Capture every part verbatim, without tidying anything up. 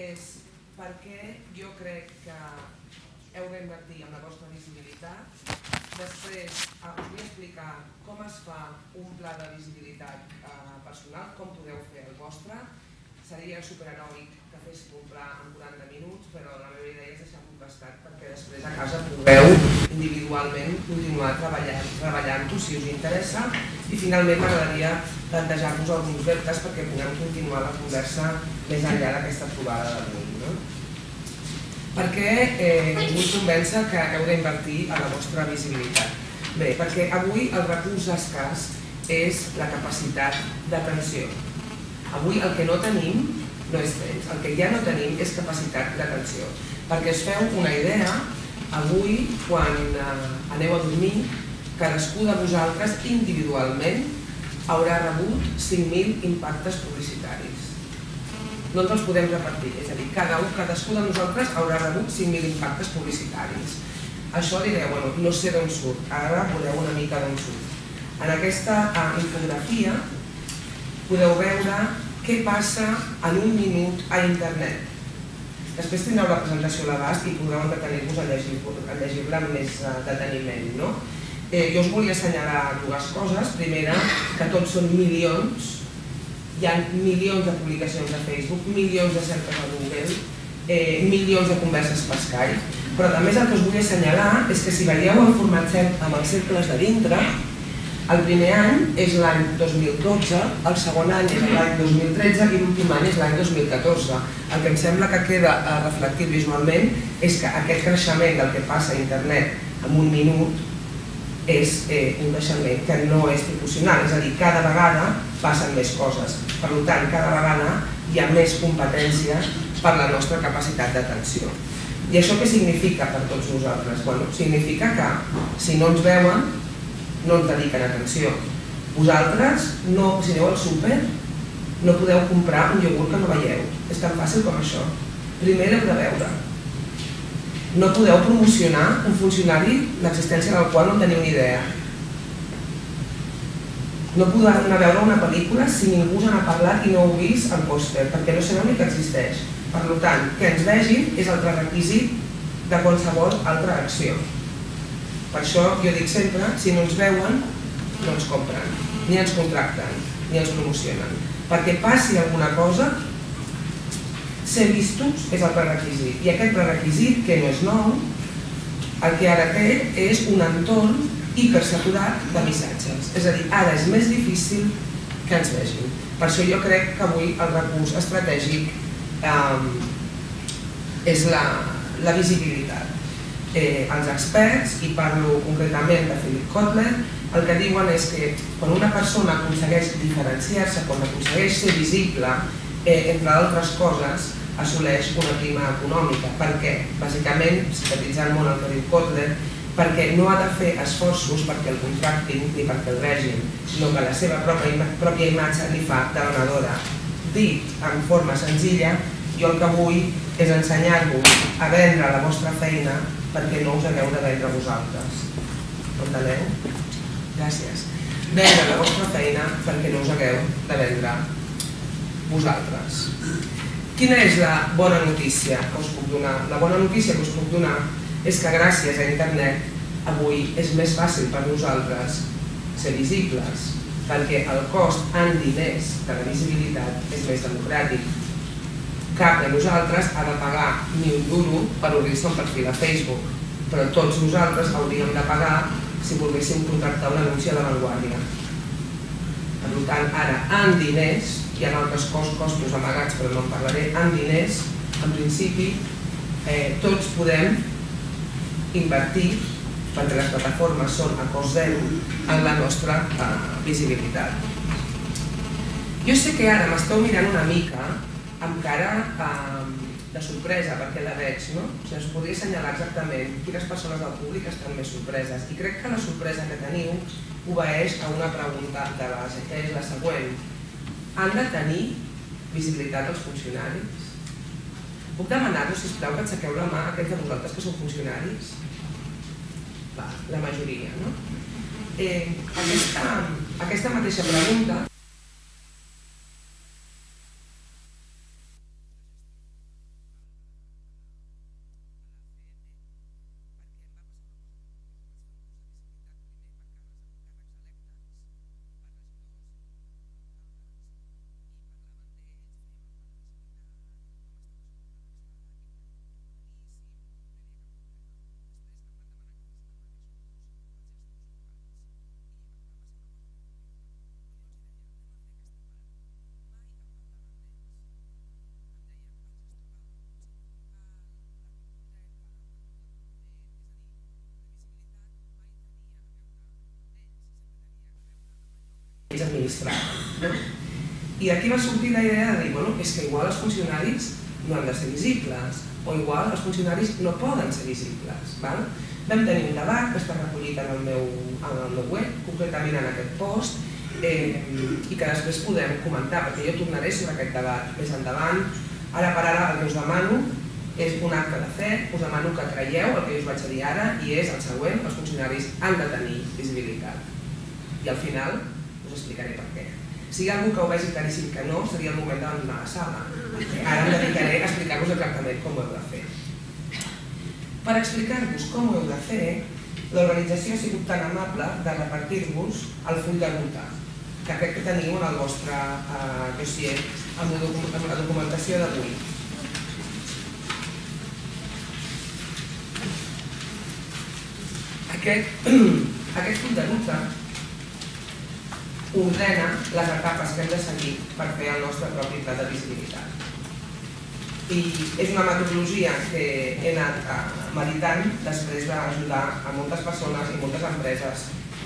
és per què jo crec que heu d'invertir en la vostra visibilitat. Després us vull explicar com es fa un pla de visibilitat personal, com podeu fer el vostre. Seria superheròic que féssim un pla en quaranta minuts, però la meva idea és deixar-ho gastat perquè després a casa pugueu individualment continuar treballant-ho si us interessa, i finalment m'agradaria plantejar-vos alguns reptes perquè puguem continuar la conversa més enllà d'aquesta trobada d'avui. Per què vull convèncer que heu d'invertir en la vostra visibilitat? Bé, perquè avui el recurs escàs és la capacitat d'atenció. Avui el que no tenim no és temps, el que ja no tenim és capacitat d'atenció. Perquè us feu una idea, avui, quan aneu a dormir, cadascú de vosaltres individualment haurà rebut cinc mil impactes publicitaris. No ens els podem repartir, és a dir, cadascú de nosaltres haurà rebut cinc mil impactes publicitaris. Això direu, bueno, no sé d'on surt, ara veureu una mica d'on surt. En aquesta infografia podeu veure què passa en un minut a internet. Després tindreu la presentació a l'abast i podreu entretenir-vos a llegir-la amb més deteniment. Jo us volia assenyalar dues coses. Primera, que tots són milions. Hi ha milions de publicacions a Facebook, milions de cerques a Google, milions de converses per Skype. Però a més el que us vull assenyalar és que si veieu el format amb els cercles de dintre, el primer any és l'any dos mil dotze, el segon any és l'any dos mil tretze i l'últim any és l'any dos mil catorze. El que em sembla que queda reflectit visualment és que aquest creixement del que passa a internet en un minut és un creixement que no és proporcional, és a dir, cada vegada passen més coses. Per tant, cada vegada hi ha més competència per la nostra capacitat d'atenció. I això què significa per tots nosaltres? Significa que si no ens veuen, no ens dediquen atenció. Vosaltres, si aneu al súper, no podeu comprar un iogurt que no veieu. És tan fàcil com això. Primer l'heu de veure. No podeu promocionar un funcionari l'existència del qual no teniu ni idea. No podeu anar a veure una pel·lícula si ningú us n'ha parlat i no heu vist el pòster, perquè no sabeu ni que existeix. Per tant, que ens vegin és el prerequisit de qualsevol altra acció. Per això jo dic sempre, si no ens veuen, no ens compren, ni ens contracten, ni ens promocionen. Perquè passi alguna cosa, ser vistos és el prerequisit. I aquest prerequisit, que no és nou, el que ara té és un entorn hipersaturat de missatges. És a dir, ara és més difícil que ens vegin. Per això jo crec que avui el recurs estratègic és la visibilitat. Els experts, i parlo concretament de Philip Kotler, el que diuen és que quan una persona aconsegueix diferenciar-se, quan aconsegueix ser visible, entre altres coses, assoleix una prima econòmica. Per què? Bàsicament, sintetitzant molt el que diu Kotler, perquè no ha de fer esforços perquè el contractin ni perquè el vegin, sinó que la seva pròpia imatge li fa de venedora. Dit en forma senzilla, jo el que vull és ensenyar-vos a vendre la vostra feina perquè no us hagueu de vendre vosaltres. Enteneu? Gràcies. Vendre la vostra feina perquè no us hagueu de vendre vosaltres. Quina és la bona notícia que us puc donar? La bona notícia que us puc donar és que gràcies a internet avui és més fàcil per nosaltres ser visibles, perquè el cost en diners de la visibilitat és més democràtic. Cap de nosaltres ha de pagar ni un duro per obrir-se un perfil a Facebook, però tots nosaltres hauríem de pagar si volguéssim contractar un anunci a La Vanguardia. Per tant, ara, en diners, hi ha altres costos amagats, però no en parlaré, en diners, en principi, tots podem invertir, perquè les plataformes són a cost zero, en la nostra visibilitat. Jo sé que ara m'esteu mirant una mica amb cara de sorpresa, perquè la veig, no? O sigui, us podria assenyalar exactament quines persones del públic estan més sorpreses. I crec que la sorpresa que teniu obeeix a una pregunta de base, que és la següent. Han de tenir visibilitat els funcionaris? Puc demanar-vos, sisplau, que aixequeu la mà a aquells de vosaltres que sou funcionaris? Va, la majoria, no? Aquesta mateixa pregunta ells administraven. I d'aquí va sortir la idea de dir, bueno, és que igual els funcionaris no han de ser visibles, o igual els funcionaris no poden ser visibles. Val? Vam tenir un debat que està recollit en el meu, en el meu web, concretament en aquest post, eh, i que després podem comentar, perquè jo tornaré sobre aquest debat més endavant. Ara per ara el que us demano és un acte de fe, us demano que creieu el que us vaig a dir ara, i és el següent: els funcionaris han de tenir visibilitat. I al final us explicaré per què. Si hi ha algú que ho vegi claríssim que no, seria el moment d'abandonar la sala. Ara em dedicaré a explicar-vos exactament com ho heu de fer. Per explicar-vos com ho heu de fer, l'organització ha sigut tan amable de repartir-vos el full de ruta, que crec que teniu en el vostre eh, dossier amb la documentació d'avui. Aquest, aquest full de ruta ordena les etapes que hem de seguir per fer el nostre propi pla de visibilitat. I és una metodologia que he anat meditant després d'ajudar a moltes persones i moltes empreses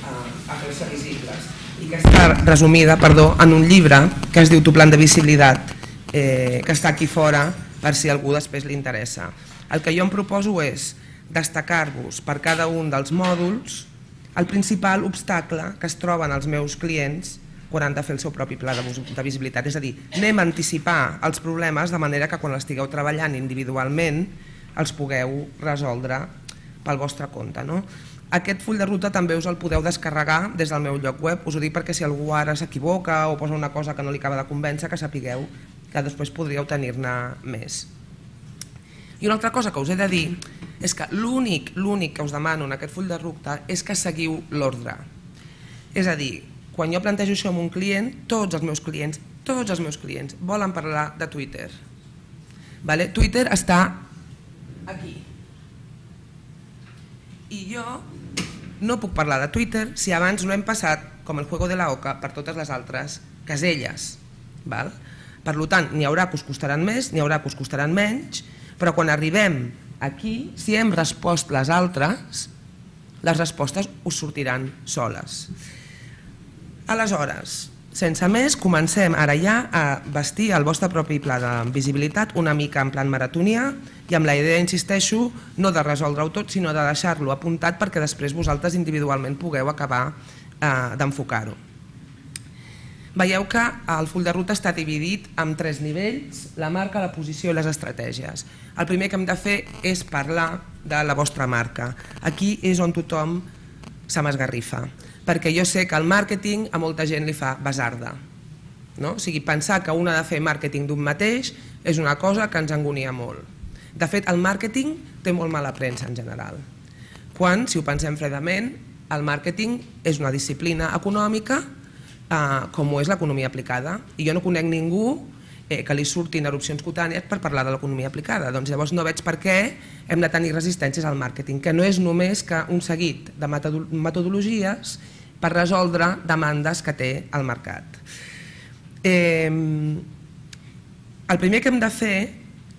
a fer-se visibles, i que està resumida perdó, en un llibre que es diu Tu plan de visibilitat, eh, que està aquí fora per si a algú després li interessa. El que jo em proposo és destacar-vos per cada un dels mòduls el principal obstacle que es troben els meus clients quan han de fer el seu propi pla de visibilitat. És a dir, anem a anticipar els problemes de manera que quan estigueu treballant individualment els pugueu resoldre pel vostre compte. No? Aquest full de ruta també us el podeu descarregar des del meu lloc web. Us ho dic perquè si algú ara s'equivoca o posa una cosa que no li acaba de convèncer, que sapigueu que després podríeu tenir-ne més. I una altra cosa que us he de dir és que l'únic l'únic que us demano en aquest full de ruta és que seguiu l'ordre. És a dir, quan jo plantejo això amb un client, tots els meus clients, tots els meus clients volen parlar de Twitter. Vale? Twitter està aquí. I jo no puc parlar de Twitter si abans no hem passat, com el juego de la oca, per totes les altres caselles. Val? Per tant, n'hi haurà que us costaran més, n'hi haurà que us costaran menys, però quan arribem aquí, si hem respost les altres, les respostes us sortiran soles. Aleshores, sense més, comencem ara ja a vestir el vostre propi pla de visibilitat una mica en plan maratonià i amb la idea, insisteixo, no de resoldre-ho tot, sinó de deixar-lo apuntat perquè després vosaltres individualment pugueu acabar eh, d'enfocar-ho. Veieu que el full de ruta està dividit en tres nivells: la marca, la posició i les estratègies. El primer que hem de fer és parlar de la vostra marca. Aquí és on tothom se m'esgarrifa, perquè jo sé que el màrqueting a molta gent li fa basarda. No? O sigui, pensar que un ha de fer màrqueting d'un mateix és una cosa que ens angonia molt. De fet, el màrqueting té molt mala premsa en general. Quan, si ho pensem fredament, el màrqueting és una disciplina econòmica com ho és l'economia aplicada, i jo no conec ningú que li surtin erupcions cutànies per parlar de l'economia aplicada. Doncs llavors no veig per què hem de tenir resistències al màrqueting, que no és només que un seguit de metodologies per resoldre demandes que té el mercat. El primer que hem de fer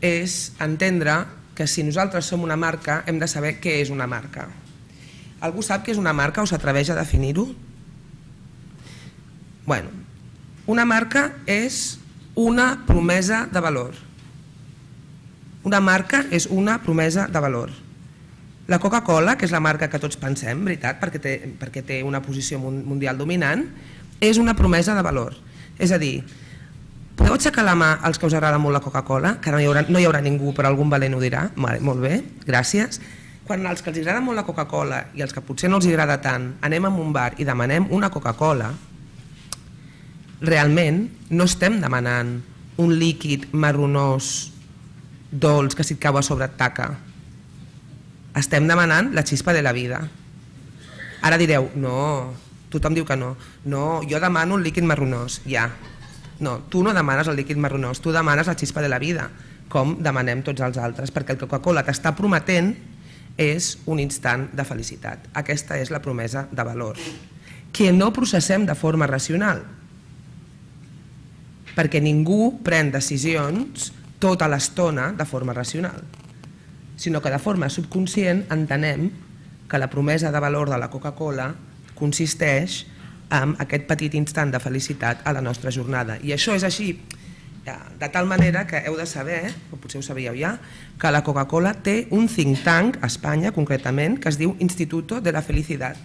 és entendre que si nosaltres som una marca hem de saber què és una marca. Algú sap què és una marca o s'atreveix a definir-ho? Bueno, una marca és una promesa de valor. Una marca és una promesa de valor. La Coca-Cola, que és la marca que tots pensem, veritat, perquè té, perquè té una posició mundial dominant, és una promesa de valor. És a dir, podeu aixecar la mà als que us agrada molt la Coca-Cola, que no hi haurà, no hi haurà ningú, però algun valent ho dirà. Vale, molt bé, gràcies. Quan els que els agrada molt la Coca-Cola i els que potser no els agrada tant anem a un bar i demanem una Coca-Cola, realment no estem demanant un líquid marronós dolç que si et cau a sobre et taca. Estem demanant la xispa de la vida. Ara direu, no, tothom diu que no. No, jo demano un líquid marronós, ja. No, tu no demanes el líquid marronós, tu demanes la xispa de la vida, com demanem tots els altres, perquè el Coca-Cola t'està prometent és un instant de felicitat. Aquesta és la promesa de valor, que no processem de forma racional, perquè ningú pren decisions tota l'estona de forma racional, sinó que de forma subconscient entenem que la promesa de valor de la Coca-Cola consisteix amb aquest petit instant de felicitat a la nostra jornada. I això és així de tal manera que heu de saber, o potser ho sabíeu ja, que la Coca-Cola té un think tank a Espanya concretament que es diu Instituto de la Felicidad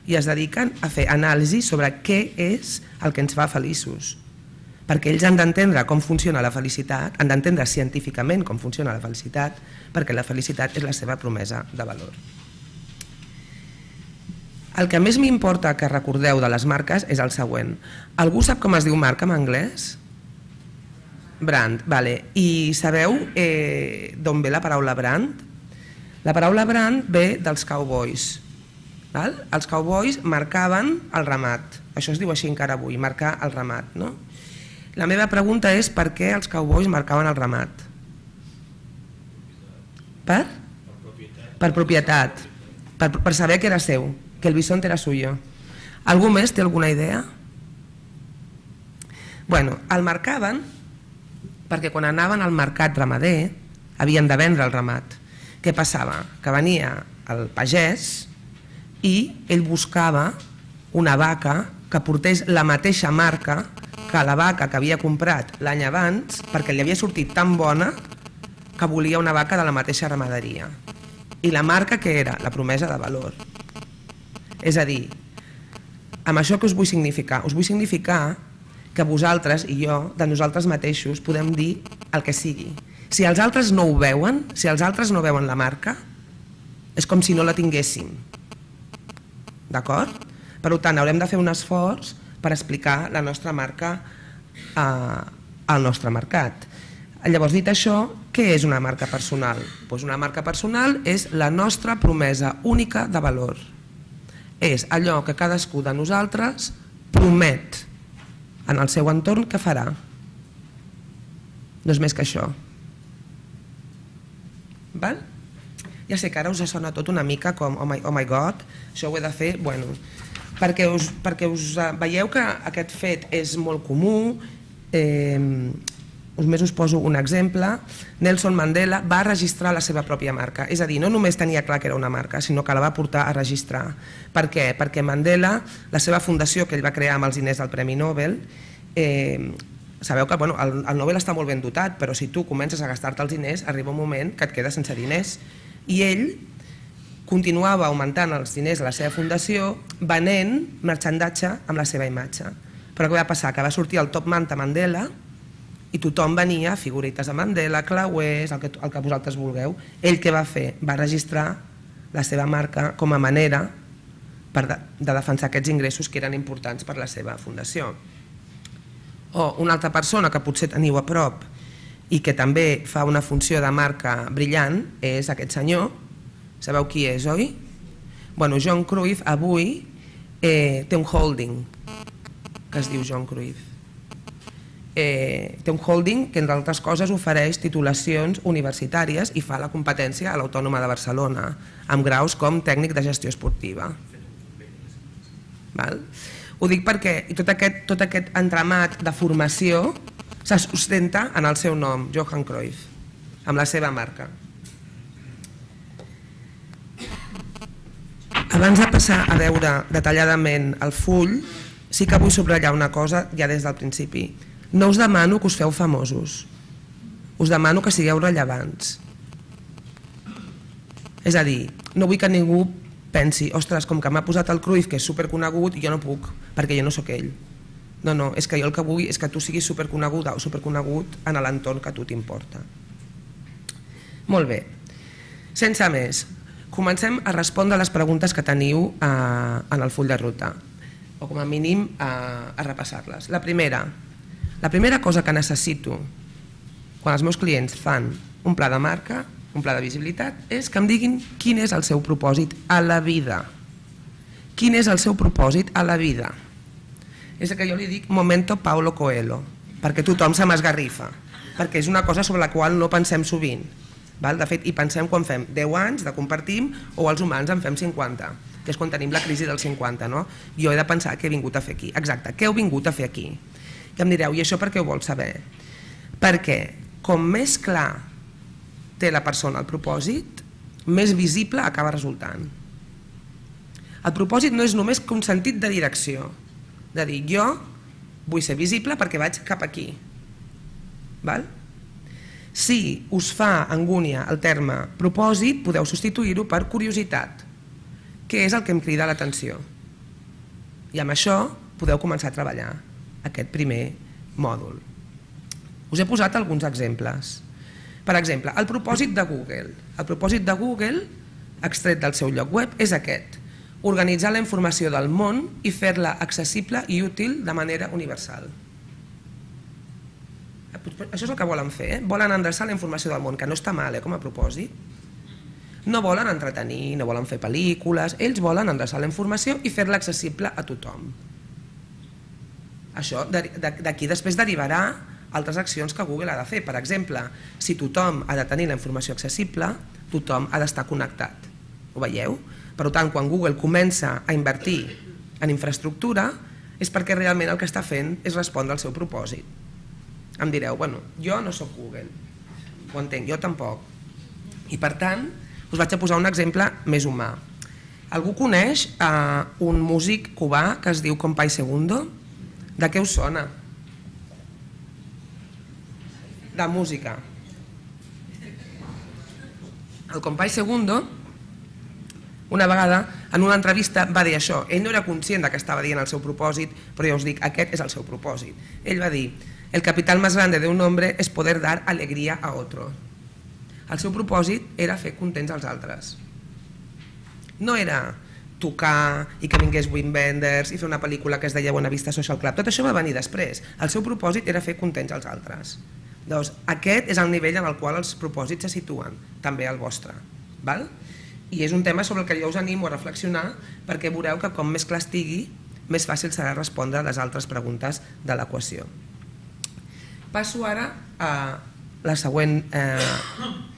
i es dediquen a fer anàlisi sobre què és el que ens fa feliços, perquè ells han d'entendre com funciona la felicitat, han d'entendre científicament com funciona la felicitat, perquè la felicitat és la seva promesa de valor. El que més m'importa que recordeu de les marques és el següent. Algú sap com es diu marca en anglès? Brand, vale. I sabeu eh, d'on ve la paraula brand? La paraula brand ve dels cowboys. Val? Els cowboys marcaven el ramat, això es diu així encara avui, marcar el ramat. No? La meva pregunta és per què els cowboys marcaven el ramat? Per? Per propietat, per, per saber que era seu, que el bisonte era suyo. Algú més té alguna idea? Bueno, el marcaven perquè quan anaven al mercat ramader havien de vendre el ramat. Què passava? Que venia el pagès i ell buscava una vaca que portés la mateixa marca que la vaca que havia comprat l'any abans perquè li havia sortit tan bona que volia una vaca de la mateixa ramaderia. I la marca què era? La promesa de valor. És a dir, amb això que us vull significar? Us vull significar que vosaltres i jo, de nosaltres mateixos, podem dir el que sigui. Si els altres no ho veuen, si els altres no veuen la marca, és com si no la tinguéssim. D'acord? Per tant, haurem de fer un esforç per explicar la nostra marca al nostre mercat. Llavors, dit això, què és una marca personal? Doncs una marca personal és la nostra promesa única de valor. És allò que cadascú de nosaltres promet en el seu entorn que farà. No és més que això. Val? Ja sé que ara us sona tot una mica com oh my, oh my god, això ho he de fer, bueno, perquè us, perquè us veieu que aquest fet és molt comú. eh, Només us poso un exemple. Nelson Mandela va registrar la seva pròpia marca, és a dir, no només tenia clar que era una marca, sinó que la va portar a registrar. Per què? Perquè Mandela, la seva fundació que ell va crear amb els diners del Premi Nobel, eh, sabeu que bueno, el, el Nobel està molt ben dotat, però si tu comences a gastar-te els diners, arriba un moment que et quedes sense diners. I ell continuava augmentant els diners de la seva fundació venent marxandatge amb la seva imatge. Però què va passar? Que va sortir el Top Manta Mandela i tothom venia, figurites de Mandela, clauers, el que, el que vosaltres vulgueu. Ell què va fer? Va registrar la seva marca com a manera per de, de defensar aquests ingressos que eren importants per la seva fundació. O una altra persona que potser teniu a prop i que també fa una funció de marca brillant és aquest senyor. Sabeu qui és, oi? Bueno, Johan Cruyff avui eh, té un holding que es diu Johan Cruyff. Eh, té un holding que, entre altres coses, ofereix titulacions universitàries i fa la competència a l'Autònoma de Barcelona, amb graus com tècnic de gestió esportiva. Val? Ho dic perquè i tot, aquest, tot aquest entramat de formació se sustenta en el seu nom, Johan Cruyff, amb la seva marca. Abans de passar a veure detalladament el full, sí que vull subratllar una cosa ja des del principi. No us demano que us feu famosos, us demano que sigueu rellevants. És a dir, no vull que ningú pensi, ostres, com que m'ha posat el Cruyff, que és superconegut, i jo no puc, perquè jo no sóc ell. No, no, és que jo el que vull és que tu siguis superconeguda o superconegut en l'entorn que a tu t'importa. Molt bé, sense més, comencem a respondre les preguntes que teniu en el full de ruta, o com a mínim a repassar-les. La primera, La primera cosa que necessito quan els meus clients fan un pla de marca, un pla de visibilitat, és que em diguin quin és el seu propòsit a la vida. Quin és el seu propòsit a la vida? És el que jo li dic momento Paulo Coelho, perquè tothom se m'esgarrifa, perquè és una cosa sobre la qual no pensem sovint. De fet, hi pensem quan fem deu anys de compartim o els humans en fem cinquanta, que és quan tenim la crisi dels cinquanta. Jo he de pensar què he vingut a fer aquí. Exacte, què heu vingut a fer aquí? I em direu, i això per què ho vols saber? Perquè com més clar té la persona el propòsit, més visible acaba resultant. El propòsit no és només un sentit de direcció, de dir jo vull ser visible perquè vaig cap aquí. Si us fa angúnia el terme propòsit, podeu substituir-ho per curiositat, que és el que em crida l'atenció. I amb això podeu començar a treballar aquest primer mòdul. Us he posat alguns exemples. Per exemple, el propòsit de Google. El propòsit de Google, extret del seu lloc web, és aquest: organitzar la informació del món i fer-la accessible i útil de manera universal. Això és el que volen fer, volen endreçar la informació del món, que no està mal com a propòsit. No volen entretenir, no volen fer pel·lícules, ells volen endreçar la informació i fer-la accessible a tothom. Això d'aquí després derivarà altres accions que Google ha de fer. Per exemple, si tothom ha de tenir la informació accessible, tothom ha d'estar connectat. Ho veieu? Per tant, quan Google comença a invertir en infraestructura és perquè realment el que està fent és respondre al seu propòsit. Em direu, bueno, jo no soc Google, ho entenc, jo tampoc. I per tant, us vaig a posar un exemple més humà. Algú coneix un músic cubà que es diu Compay Segundo? De què us sona? De música. El Compay Segundo, una vegada, en una entrevista va dir això. Ell no era conscient que estava dient el seu propòsit, però ja us dic, aquest és el seu propòsit. Ell va dir: el capital más grande de un hombre es poder dar alegría a otro. El seu propòsit era fer contents als altres. No era tocar i que vingués Wim Wenders i fer una pel·lícula que es deia Buena Vista Social Club. Tot això va venir després. El seu propòsit era fer contents als altres. Doncs aquest és el nivell en el qual els propòsits se situen, també el vostre. I és un tema sobre el que jo us animo a reflexionar, perquè veureu que com més clar estigui, més fàcil serà respondre a les altres preguntes de l'equació. Passo ara a la següent, eh,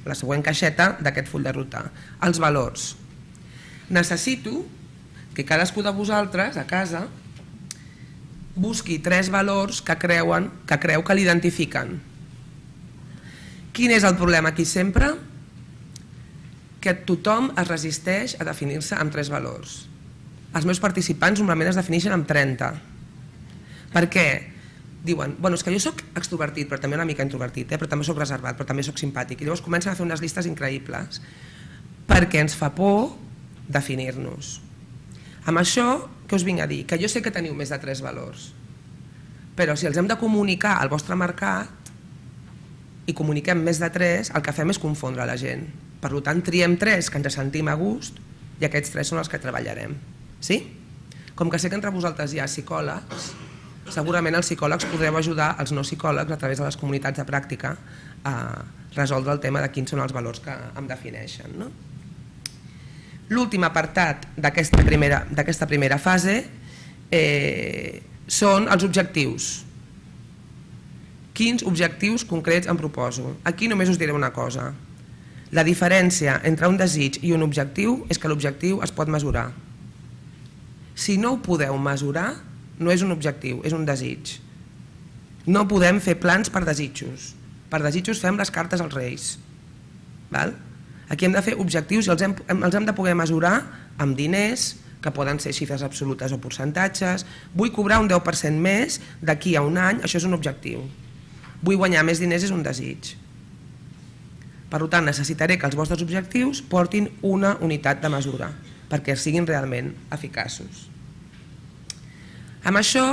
la següent caixeta d'aquest full de ruta, els valors. Necessito que cadascú de vosaltres a casa busqui tres valors que creuen que creu que l'identifiquen. Quin és el problema aquí sempre? Que tothom es resisteix a definir-se amb tres valors. Els meus participants normalment es defineixen amb trenta. Per què? Diuen, bueno, és que jo soc extrovertit, però també una mica introvertit, però també soc reservat, però també soc simpàtic. I llavors comencen a fer unes llistes increïbles perquè ens fa por definir-nos. Amb això, què us vinc a dir? Que jo sé que teniu més de tres valors, però si els hem de comunicar al vostre mercat i comuniquem més de tres, el que fem és confondre la gent. Per tant, triem tres que ens sentim a gust i aquests tres són els que treballarem. Sí? Com que sé que entre vosaltres hi ha psicòlegs, segurament els psicòlegs podreu ajudar els no psicòlegs a través de les comunitats de pràctica a resoldre el tema de quins són els valors que em defineixen. L'últim apartat d'aquesta primera fase són els objectius. Quins objectius concrets em proposo? Aquí només us diré una cosa. La diferència entre un desig i un objectiu és que l'objectiu es pot mesurar. Si no ho podeu mesurar, no és un objectiu, és un desig. No podem fer plans per desitjos. Per desitjos fem les cartes als reis. Aquí hem de fer objectius i els hem de poder mesurar amb diners, que poden ser xifres absolutes o percentatges. Vull cobrar un deu per cent més d'aquí a un any, això és un objectiu. Vull guanyar més diners, és un desig. Per tant, necessitaré que els vostres objectius portin una unitat de mesura perquè siguin realment eficaços. Amb això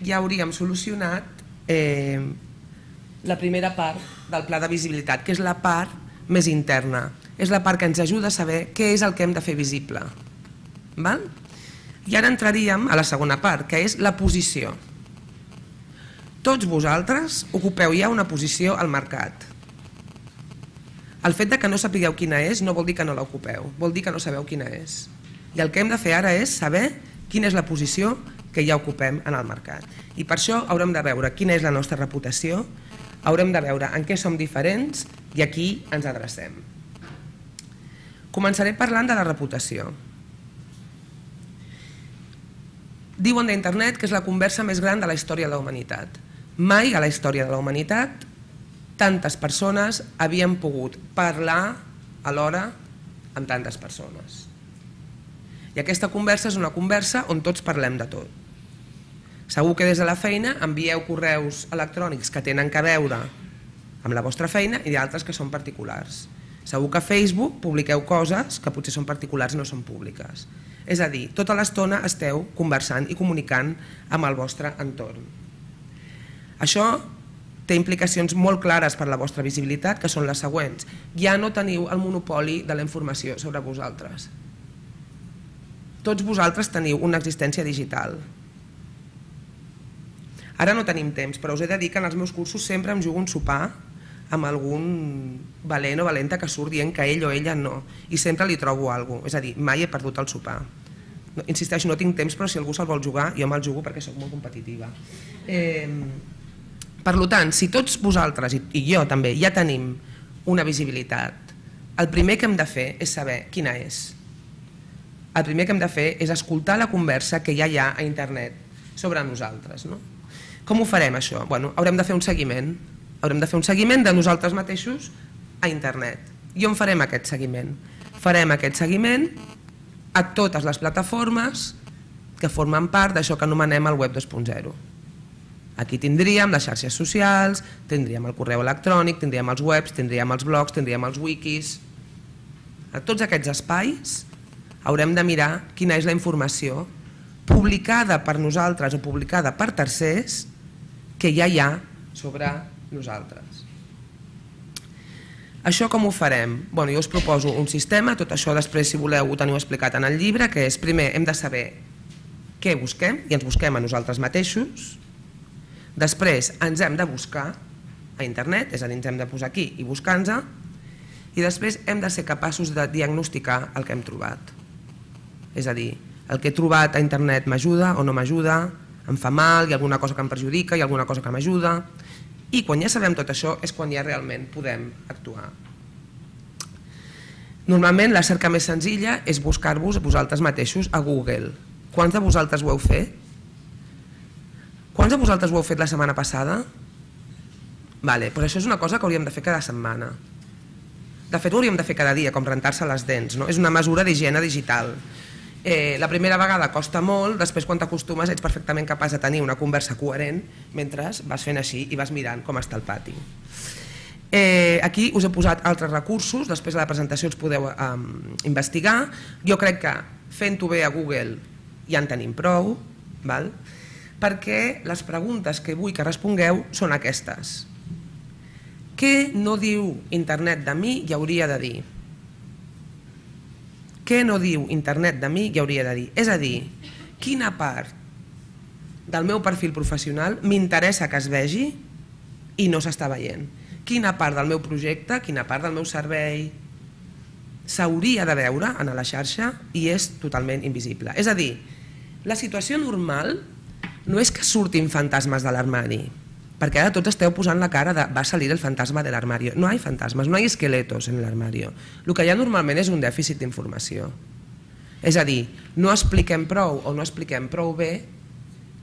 ja hauríem solucionat la primera part del pla de visibilitat, que és la part més interna. És la part que ens ajuda a saber què és el que hem de fer visible. I ara entraríem a la segona part, que és la posició. Tots vosaltres ocupeu ja una posició al mercat. El fet que no sapigueu quina és no vol dir que no l'ocupeu, vol dir que no sabeu quina és. I el que hem de fer ara és saber quina és la posició que ja ocupem en el mercat. I per això haurem de veure quina és la nostra reputació, haurem de veure en què som diferents i a qui ens adrecem. Començaré parlant de la reputació. Diuen d'internet que és la conversa més gran de la història de la humanitat. Mai a la història de la humanitat tantes persones havien pogut parlar alhora amb tantes persones. I aquesta conversa és una conversa on tots parlem de tot. Segur que des de la feina envieu correus electrònics que tenen a veure amb la vostra feina i d'altres que són particulars. Segur que a Facebook publiqueu coses que potser són particulars i no són públiques. És a dir, tota l'estona esteu conversant i comunicant amb el vostre entorn. Això té implicacions molt clares per a la vostra visibilitat, que són les següents. Ja no teniu el monopoli de la informació sobre vosaltres. Tots vosaltres teniu una existència digital. Ara no tenim temps, però us he de dir que en els meus cursos sempre em jugo un sopar amb algun valent o valenta que surt dient que ell o ella no, i sempre li trobo alguna cosa, és a dir, mai he perdut el sopar. Insisteixo, no tinc temps, però si algú se'l vol jugar, jo me'l jugo perquè sóc molt competitiva. Per tant, si tots vosaltres, i jo també, ja tenim una visibilitat, el primer que hem de fer és saber quina és. El primer que hem de fer és escoltar la conversa que ja hi ha a internet sobre nosaltres. Com ho farem, això? Haurem de fer un seguiment. Haurem de fer un seguiment de nosaltres mateixos a internet. I on farem aquest seguiment? Farem aquest seguiment a totes les plataformes que formen part d'això que anomenem el web dos punt zero. Aquí tindríem les xarxes socials, tindríem el correu electrònic, tindríem els webs, tindríem els blogs, tindríem els wikis. A tots aquests espais haurem de mirar quina és la informació publicada per nosaltres o publicada per tercers que ja hi ha sobre nosaltres. Això com ho farem? Jo us proposo un sistema, tot això després si voleu ho teniu explicat en el llibre, que és primer hem de saber què busquem i ens busquem a nosaltres mateixos, després ens hem de buscar a internet, és a dir, ens hem de posar aquí i buscar-nos, i després hem de ser capaços de diagnosticar el que hem trobat. És a dir, el que he trobat a internet m'ajuda o no m'ajuda, em fa mal, hi ha alguna cosa que em perjudica, hi ha alguna cosa que m'ajuda, i quan ja sabem tot això és quan ja realment podem actuar. Normalment la cerca més senzilla és buscar-vos vosaltres mateixos a Google. Quants de vosaltres ho heu fet? Quants de vosaltres ho heu fet la setmana passada? Vale, doncs això és una cosa que hauríem de fer cada setmana. De fet ho hauríem de fer cada dia, com rentar-se les dents, no? És una mesura d'higiene digital. La primera vegada costa molt, després quan t'acostumes ets perfectament capaç de tenir una conversa coherent mentre vas fent així i vas mirant com està el pati. Aquí us he posat altres recursos, després a la presentació els podeu investigar. Jo crec que fent-ho bé a Google ja en tenim prou, perquè les preguntes que vull que respongueu són aquestes. Què no diu internet de mi i hauria de dir? Què no diu internet de mi i hauria de dir? És a dir, quina part del meu perfil professional m'interessa que es vegi i no s'està veient? Quina part del meu projecte, quina part del meu servei s'hauria de veure a la xarxa i és totalment invisible? És a dir, la situació normal no és que surtin fantasmes de l'armari, perquè ara tots esteu posant la cara de va salir el fantasma de l'armario. No hay fantasmas, no hay esqueletos en l'armario. El que hi ha normalment és un dèficit d'informació. És a dir, no expliquem prou o no expliquem prou bé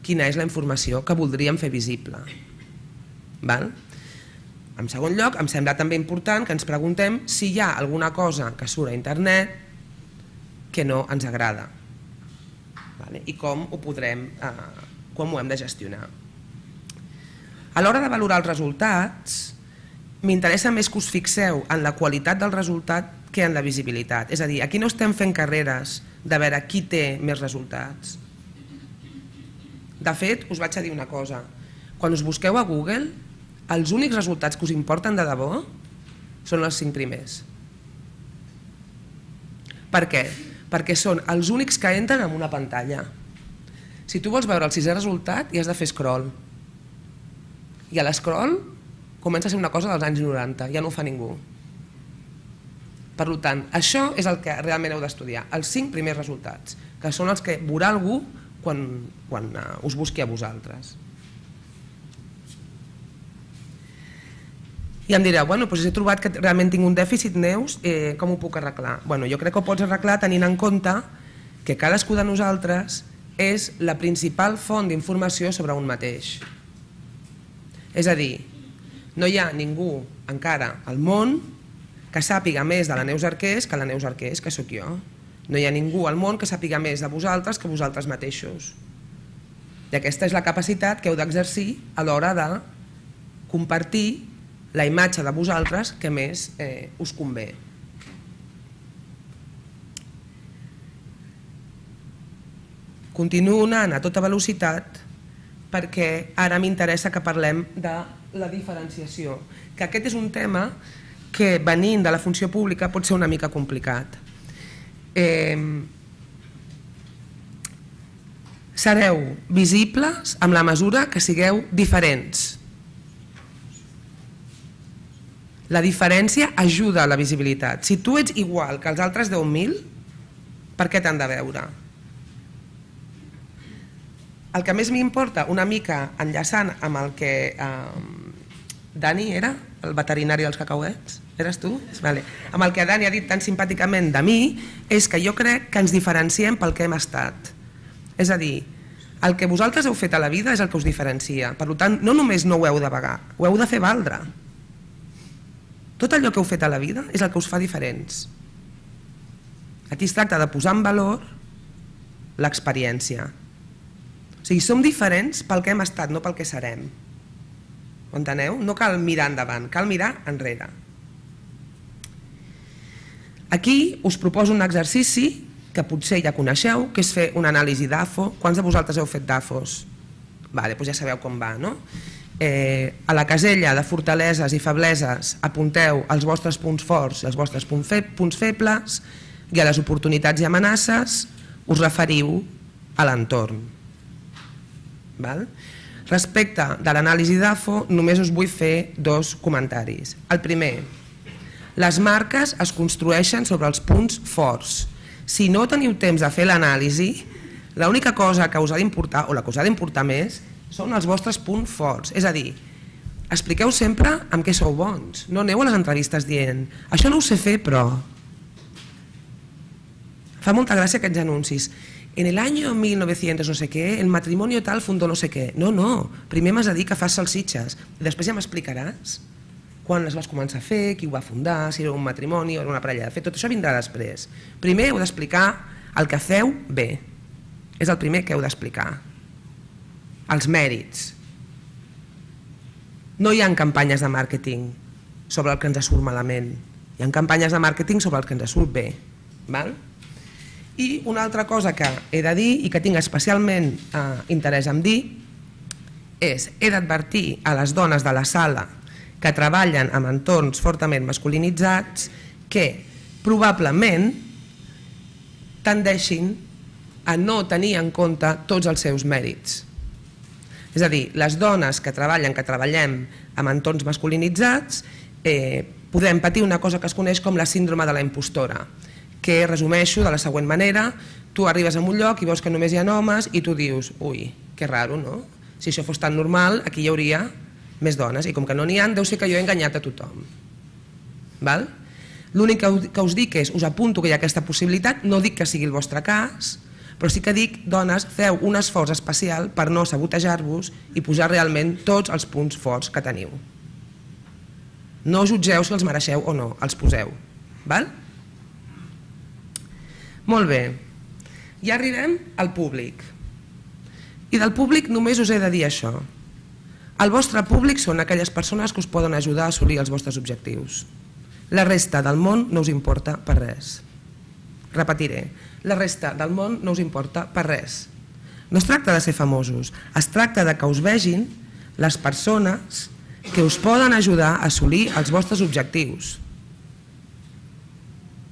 quina és la informació que voldríem fer visible. En segon lloc, em sembla també important que ens preguntem si hi ha alguna cosa que surt a internet que no ens agrada i com ho podrem, com ho hem de gestionar. A l'hora de valorar els resultats, m'interessa més que us fixeu en la qualitat del resultat que en la visibilitat. És a dir, aquí no estem fent carreres de veure qui té més resultats. De fet, us vaig a dir una cosa. Quan us busqueu a Google, els únics resultats que us importen de debò són els cinc primers. Per què? Perquè són els únics que entren en una pantalla. Si tu vols veure el sisè resultat, hi has de fer scroll. I a l'escroll comença a ser una cosa dels anys noranta, ja no ho fa ningú. Per tant, això és el que realment heu d'estudiar, els cinc primers resultats, que són els que veurà algú quan us busqui a vosaltres. I em direu, bueno, doncs he trobat que realment tinc un dèficit, Neus, com ho puc arreglar? Bueno, jo crec que ho pots arreglar tenint en compte que cadascú de nosaltres és la principal font d'informació sobre un mateix. És a dir, no hi ha ningú encara al món que sàpiga més de la Neus Arqués que la Neus Arqués, que sóc jo. No hi ha ningú al món que sàpiga més de vosaltres que vosaltres mateixos. I aquesta és la capacitat que heu d'exercir a l'hora de compartir la imatge de vosaltres que més eh, us convé. Continuo anant a tota velocitat perquè ara m'interessa que parlem de la diferenciació, que aquest és un tema que venint de la funció pública pot ser una mica complicat. Eh, sereu visibles amb la mesura que sigueu diferents. La diferència ajuda a la visibilitat. Si tu ets igual que els altres deu mil, per què t'han de veure? El que més m'importa, una mica enllaçant amb el que eh, Dani era, el veterinari dels cacauets, eres tu? Vale. Amb el que Dani ha dit tan simpàticament de mi, és que jo crec que ens diferenciem pel que hem estat. És a dir, el que vosaltres heu fet a la vida és el que us diferencia. Per tant, no només no ho heu de pagar, ho heu de fer valdre. Tot allò que heu fet a la vida és el que us fa diferents. Aquí es tracta de posar en valor l'experiència. O sigui, som diferents pel que hem estat, no pel que serem. Ho enteneu? No cal mirar endavant, cal mirar enrere. Aquí us proposo un exercici que potser ja coneixeu, que és fer una anàlisi d'A F O. Quants de vosaltres heu fet d'A F Os? Vale, doncs ja sabeu com va, no? Eh, a la casella de fortaleses i febleses apunteu els vostres punts forts i els vostres punts, fe punts febles, i a les oportunitats i amenaces us referiu a l'entorn. Respecte de l'anàlisi d'A F O, només us vull fer dos comentaris. El primer, les marques es construeixen sobre els punts forts. Si no teniu temps de fer l'anàlisi, l'única cosa que us ha d'importar, o la que us ha d'importar més, són els vostres punts forts. És a dir, expliqueu sempre amb què sou bons. No aneu a les entrevistes dient això no ho sé fer, però... Fa molta gràcia aquests anuncis. En el año mil novecientos no sé què, el matrimonio tal fundó no sé què. No, no, primer m'has de dir que fas salsitxes i després ja m'explicaràs quan les vas començar a fer, qui ho va fundar, si era un matrimoni o era una parella de fet. Tot això vindrà després. Primer heu d'explicar el que feu bé. És el primer que heu d'explicar. Els mèrits. No hi ha campanyes de màrqueting sobre el que ens surt malament. Hi ha campanyes de màrqueting sobre el que ens surt bé. Val? I una altra cosa que he de dir i que tinc especialment eh, interès en dir és he d'advertir a les dones de la sala que treballen en entorns fortament masculinitzats que probablement tendeixin a no tenir en compte tots els seus mèrits. És a dir, les dones que treballen, que treballem en entorns masculinitzats, eh, podem patir una cosa que es coneix com la síndrome de la impostora, que resumeixo de la següent manera: tu arribes a un lloc i veus que només hi ha homes i tu dius, ui, que raro, no? Si això fos tan normal, aquí hi hauria més dones, i com que no n'hi ha, deu ser que jo he enganyat a tothom. Val? L'únic que us dic és, us apunto que hi ha aquesta possibilitat, no dic que sigui el vostre cas, però sí que dic, dones, feu un esforç especial per no sabotejar-vos i posar realment tots els punts forts que teniu. No jutgeu si els mereixeu o no, els poseu. Val? Molt bé, ja arribem al públic. I del públic només us he de dir això. El vostre públic són aquelles persones que us poden ajudar a assolir els vostres objectius. La resta del món no us importa per res. Repetiré, la resta del món no us importa per res. No es tracta de ser famosos, es tracta de que us vegin les persones que us poden ajudar a assolir els vostres objectius.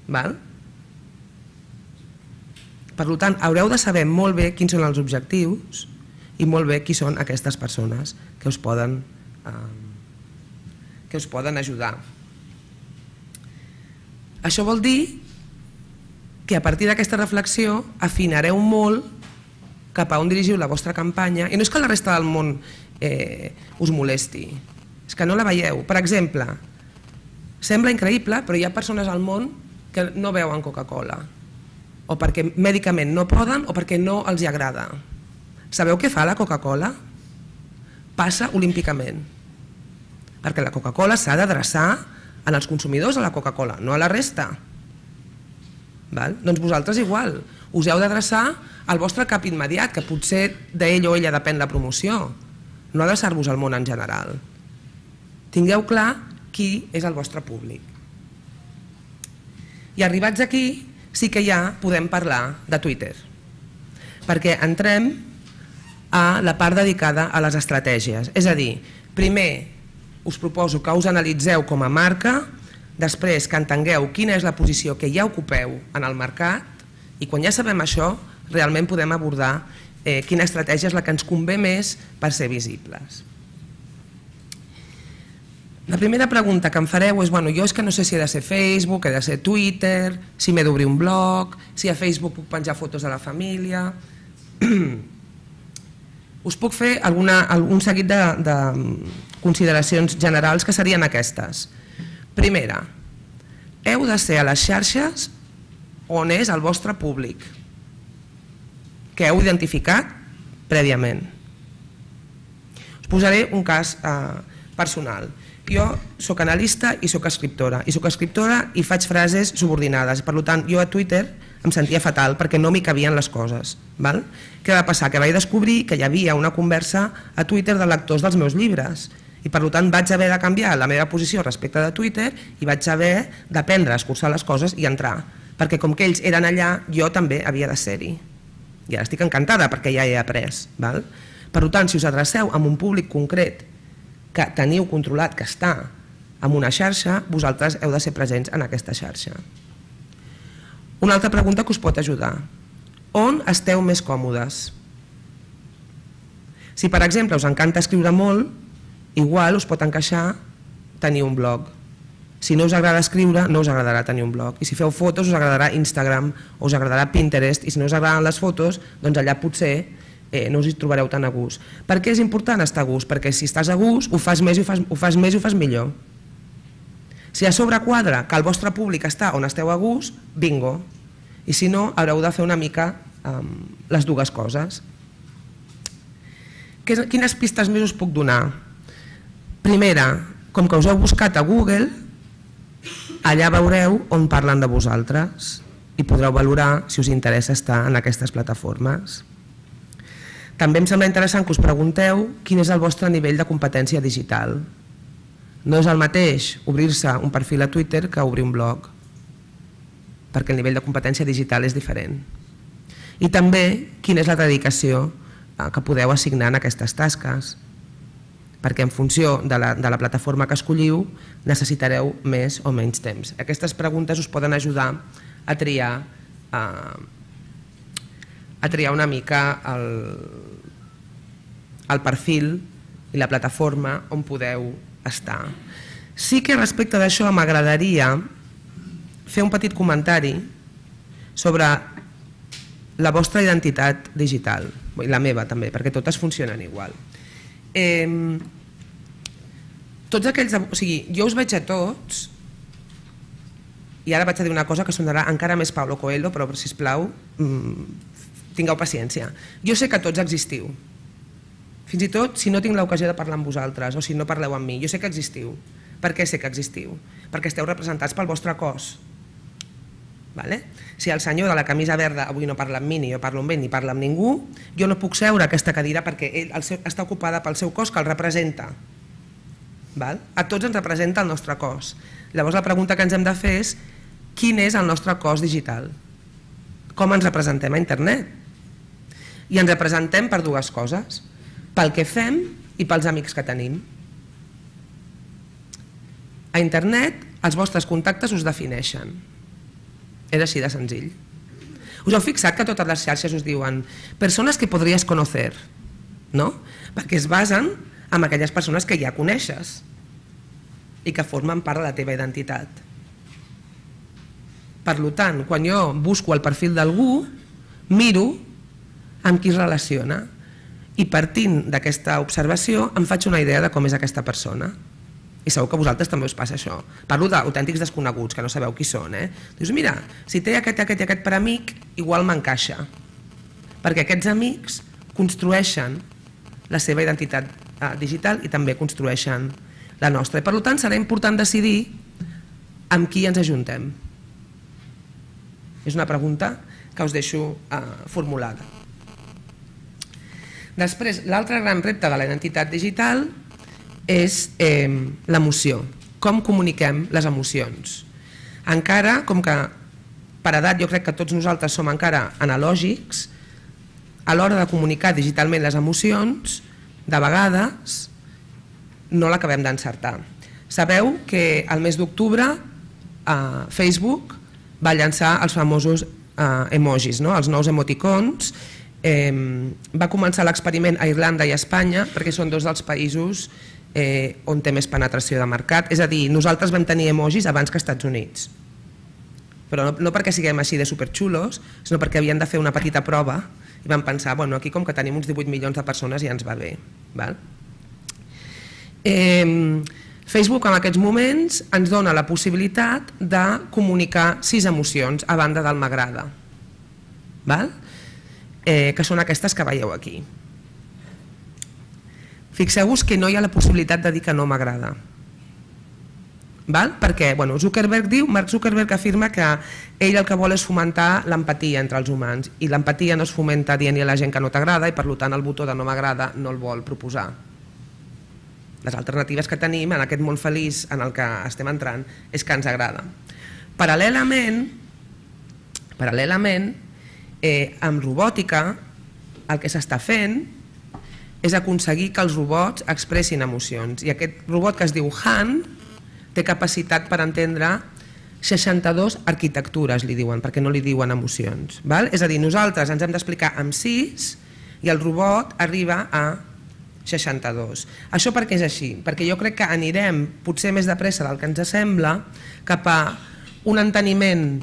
Val? Per tant, haureu de saber molt bé quins són els objectius i molt bé qui són aquestes persones que us poden, eh, que us poden ajudar. Això vol dir que a partir d'aquesta reflexió afinareu molt cap a on dirigiu la vostra campanya, i no és que la resta del món eh, us molesti, és que no la veieu. Per exemple, sembla increïble, però hi ha persones al món que no beuen Coca-Cola, o perquè mèdicament no poden o perquè no els agrada. Sabeu què fa la Coca-Cola? Passa olímpicament, perquè la Coca-Cola s'ha d'adreçar en els consumidors de la Coca-Cola, no a la resta. Doncs vosaltres igual, us heu d'adreçar al vostre cap immediat, que potser d'ell o ella depèn la promoció, no adreçar-vos al món en general. Tingueu clar qui és el vostre públic. I arribats aquí, sí que ja podem parlar de Twitter, perquè entrem a la part dedicada a les estratègies. És a dir, primer us proposo que us analitzeu com a marca, després que entengueu quina és la posició que ja ocupeu en el mercat i quan ja sabem això, realment podem abordar quina estratègia és la que ens convé més per ser visibles. La primera pregunta que em fareu és, bueno, jo és que no sé si he de ser Facebook, he de ser Twitter, si m'he d'obrir un blog, si a Facebook puc penjar fotos de la família. Us puc fer un seguit de consideracions generals que serien aquestes. Primera, heu de ser a les xarxes on és el vostre públic, que heu identificat prèviament. Us posaré un cas personal. Jo soc analista i soc escriptora, i soc escriptora i faig frases subordinades, per tant jo a Twitter em sentia fatal perquè no m'hi cabien les coses. Què va passar? Que vaig descobrir que hi havia una conversa a Twitter de lectors dels meus llibres i per tant vaig haver de canviar la meva posició respecte de Twitter i vaig haver d'aprendre a escurçar les coses i entrar, perquè com que ells eren allà, jo també havia de ser-hi. I ara estic encantada perquè ja he après. Per tant, si us adreceu a un públic concret que teniu controlat, que està en una xarxa, vosaltres heu de ser presents en aquesta xarxa. Una altra pregunta que us pot ajudar. On esteu més còmodes? Si, per exemple, us encanta escriure molt, igual us pot encaixar tenir un blog. Si no us agrada escriure, no us agradarà tenir un blog. I si feu fotos, us agradarà Instagram o us agradarà Pinterest. I si no us agraden les fotos, doncs allà potser no us hi trobareu tan a gust. Per què és important estar a gust? Perquè si estàs a gust, ho fas més i ho fas més i ho fas millor. Si a sobre quadra que el vostre públic està on esteu a gust, bingo. I si no, haureu de fer una mica les dues coses. Quines pistes més us puc donar? Primera, com que us heu buscat a Google, allà veureu on parlen de vosaltres i podreu valorar si us interessa estar en aquestes plataformes. També em sembla interessant que us pregunteu quin és el vostre nivell de competència digital. No és el mateix obrir-se un perfil a Twitter que obrir un blog, perquè el nivell de competència digital és diferent. I també quina és la dedicació que podeu assignar en aquestes tasques, perquè en funció de la plataforma que escolliu necessitareu més o menys temps. Aquestes preguntes us poden ajudar a triar a triar una mica el perfil i la plataforma on podeu estar. Sí que respecte d'això m'agradaria fer un petit comentari sobre la vostra identitat digital, i la meva també, perquè totes funcionen igual. Tots aquells, o sigui, jo us veig a tots, i ara vaig a dir una cosa que sonarà encara més Paulo Coelho, però sisplau, tingueu paciència. Jo sé que tots existiu, fins i tot si no tinc l'ocasió de parlar amb vosaltres o si no parleu amb mi, jo sé que existiu. Per què sé que existiu? Perquè esteu representats pel vostre cos. Si el senyor de la camisa verda avui no parla amb mi, ni jo parlo amb ell, ni parla amb ningú, jo no puc seure a aquesta cadira perquè ell està ocupada pel seu cos que el representa. A tots ens representa el nostre cos. Llavors la pregunta que ens hem de fer és quin és el nostre cos digital? Com ens representem a internet? I ens representem per dues coses, pel que fem i pels amics que tenim. A internet els vostres contactes us defineixen. És així de senzill. Us heu fixat que totes les xarxes us diuen persones que podries conocer, no? Perquè es basen en aquelles persones que ja coneixes i que formen part de la teva identitat. Per tant, quan jo busco el perfil d'algú, miro amb qui es relaciona i partint d'aquesta observació em faig una idea de com és aquesta persona. I segur que a vosaltres també us passa això. Parlo d'autèntics desconeguts, que no sabeu qui són. Dius, mira, si té aquest, aquest i aquest per amic, igual m'encaixa. Perquè aquests amics construeixen la seva identitat digital i també construeixen la nostra. I per tant serà important decidir amb qui ens ajuntem. És una pregunta que us deixo formulada. Després, l'altre gran repte de la identitat digital és l'emoció. Com comuniquem les emocions? Encara, com que per edat jo crec que tots nosaltres som encara analògics, a l'hora de comunicar digitalment les emocions, de vegades no l'acabem d'encertar. Sabeu que el mes d'octubre Facebook va llançar els famosos emojis, els nous emoticons. Va començar l'experiment a Irlanda i a Espanya perquè són dos dels països on té més penetració de mercat. És a dir, nosaltres vam tenir emojis abans que als Estats Units. Però no perquè siguem així de superxulos, sinó perquè havien de fer una petita prova i vam pensar, bueno, aquí com que tenim uns divuit milions de persones ja ens va bé. Facebook en aquests moments ens dona la possibilitat de comunicar sis emocions a banda del m'agrada, que són aquestes que veieu aquí. Fixeu-vos que no hi ha la possibilitat de dir que no m'agrada. Perquè Zuckerberg diu, Mark Zuckerberg afirma que ell el que vol és fomentar l'empatia entre els humans i l'empatia no es fomenta dient-hi a la gent que no t'agrada i per tant el botó de no m'agrada no el vol proposar. Les alternatives que tenim en aquest món feliç en el que estem entrant és que ens agrada. Paral·lelament, paral·lelament, amb robòtica el que s'està fent és aconseguir que els robots expressin emocions i aquest robot que es diu Han té capacitat per entendre seixanta-dues arquitectures, li diuen, perquè no li diuen emocions. És a dir, nosaltres ens hem d'explicar amb sis i el robot arriba a seixanta-dos. Això per què és així? Perquè jo crec que anirem, potser més de pressa del que ens sembla, cap a un enteniment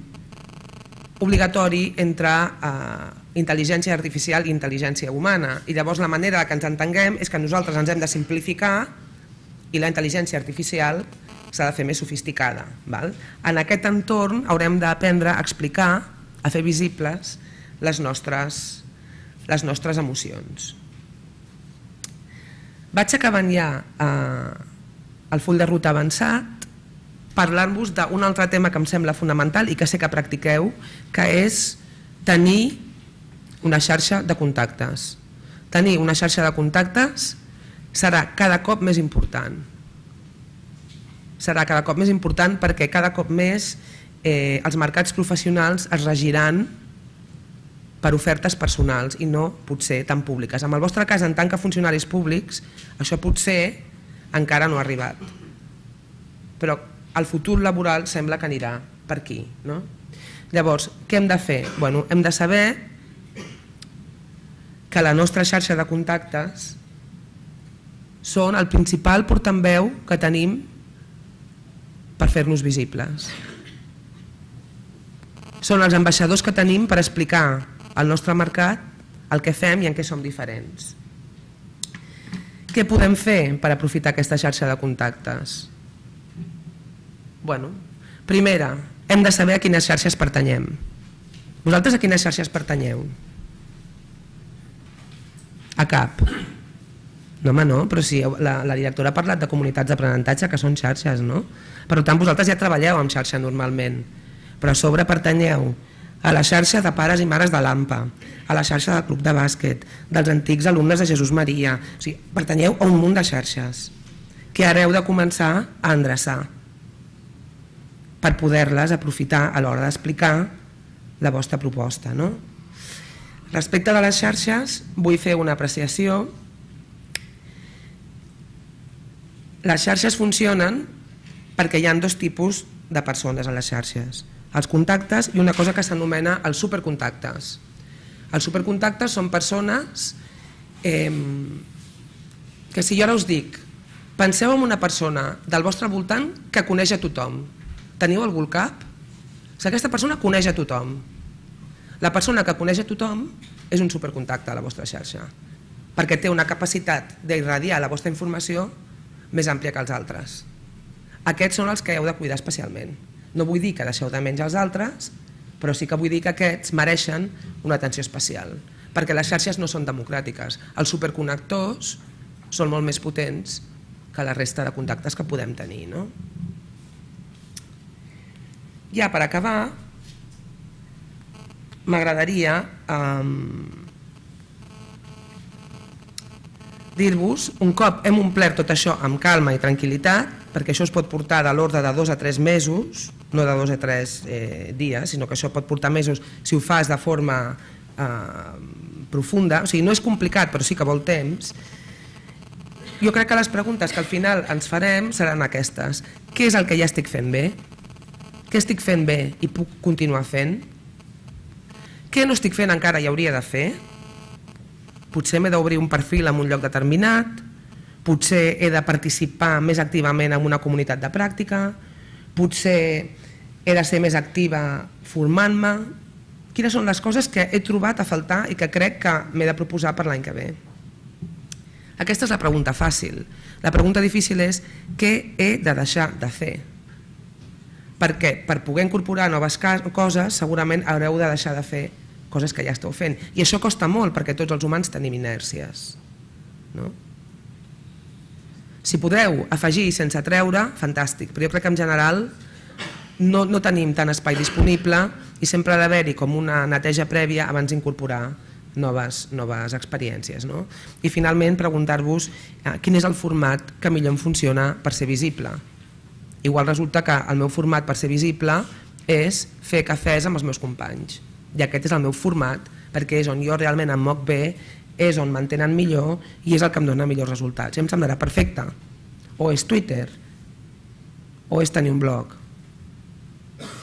obligatori entre intel·ligència artificial i intel·ligència humana. I llavors la manera que ens entenguem és que nosaltres ens hem de simplificar i la intel·ligència artificial s'ha de fer més sofisticada. En aquest entorn haurem d'aprendre a explicar, a fer visibles les nostres emocions. Vaig acabant ja el full de ruta avançat parlant-vos d'un altre tema que em sembla fonamental i que sé que practiqueu, que és tenir una xarxa de contactes. Tenir una xarxa de contactes serà cada cop més important. Serà cada cop més important perquè cada cop més els mercats professionals es regiran per ofertes personals i no potser tan públiques. En el vostre cas, en tant que funcionaris públics, això potser encara no ha arribat. Però el futur laboral sembla que anirà per aquí. Llavors, què hem de fer? Hem de saber que la nostra xarxa de contactes són el principal portaveu que tenim per fer-nos visibles. Són els ambaixadors que tenim per explicar al nostre mercat el que fem i en què som diferents. Què podem fer per aprofitar aquesta xarxa de contactes? Bueno, primera, hem de saber a quines xarxes pertanyem. Vosaltres a quines xarxes pertanyeu? A cap. No, home, no, però si la directora ha parlat de comunitats d'aprenentatge que són xarxes, no? Per tant, vosaltres ja treballeu amb xarxa normalment, però a sobre pertanyeu a la xarxa de pares i mares de l'AMPA, a la xarxa del club de bàsquet, dels antics alumnes de Jesús Maria, o sigui, pertanyeu a un munt de xarxes que ara heu de començar a endreçar per poder-les aprofitar a l'hora d'explicar la vostra proposta. Respecte de les xarxes, vull fer una apreciació. Les xarxes funcionen perquè hi ha dos tipus de persones a les xarxes, els contactes i una cosa que s'anomena els supercontactes. Els supercontactes són persones que, si jo ara us dic, penseu en una persona del vostre voltant que coneix a tothom, teniu algú al cap? Aquesta persona coneix a tothom. La persona que coneix a tothom és un supercontacte a la vostra xarxa, perquè té una capacitat d'irradiar la vostra informació més àmplia que els altres. Aquests són els que heu de cuidar especialment. No vull dir que deixeu de menys els altres, però sí que vull dir que aquests mereixen una atenció especial, perquè les xarxes no són democràtiques. Els superconnectors són molt més potents que la resta de contactes que podem tenir. Ja per acabar, m'agradaria dir-vos, un cop hem omplert tot això amb calma i tranquil·litat, perquè això es pot portar de l'ordre de dos a tres mesos, no de dos a tres dies, sinó que això pot portar mesos si ho fas de forma profunda, o sigui, no és complicat però sí que vol temps. Jo crec que les preguntes que al final ens farem seran aquestes. Què és el que ja estic fent bé? Què estic fent bé i puc continuar fent? Què no estic fent encara i hauria de fer? Potser m'he d'obrir un perfil en un lloc determinat, potser he de participar més activament en una comunitat de pràctica, potser he de ser més activa formant-me. Quines són les coses que he trobat a faltar i que crec que m'he de proposar per l'any que ve? Aquesta és la pregunta fàcil. La pregunta difícil és què he de deixar de fer? Perquè per poder incorporar noves coses segurament haureu de deixar de fer coses que ja esteu fent. I això costa molt perquè tots els humans tenim inèrcies. Si podeu afegir sense treure, fantàstic, però jo crec que en general no tenim tant espai disponible i sempre ha d'haver-hi com una neteja prèvia abans d'incorporar noves experiències. I finalment preguntar-vos quin és el format que millor em funciona per ser visible. Igual resulta que el meu format per ser visible és fer cafès amb els meus companys. I aquest és el meu format perquè és on jo realment em moc bé, és on m'entenen millor i és el que em dona millors resultats. I em semblarà perfecte. O és Twitter, o és tenir un blog.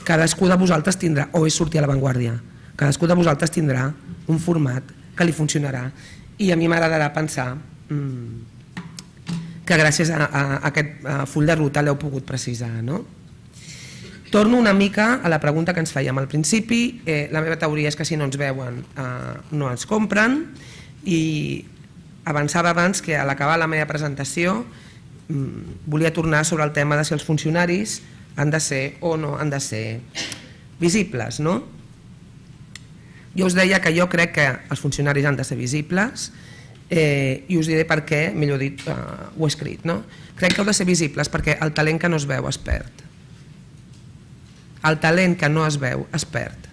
Cadascú de vosaltres tindrà, o és sortir a l'avantguàrdia, cadascú de vosaltres tindrà un format que li funcionarà. I a mi m'agradarà pensar que gràcies a aquest full de ruta l'heu pogut precisar. Torno una mica a la pregunta que ens fèiem al principi. La meva teoria és que si no ens veuen no ens compren i avançava abans que a l'acabar la meva presentació volia tornar sobre el tema de si els funcionaris han de ser o no han de ser visibles. Jo us deia que jo crec que els funcionaris han de ser visibles i us diré per què, millor dit, ho he escrit. Crec que heu de ser visibles perquè el talent que no es veu es perd. El talent que no es veu es perd.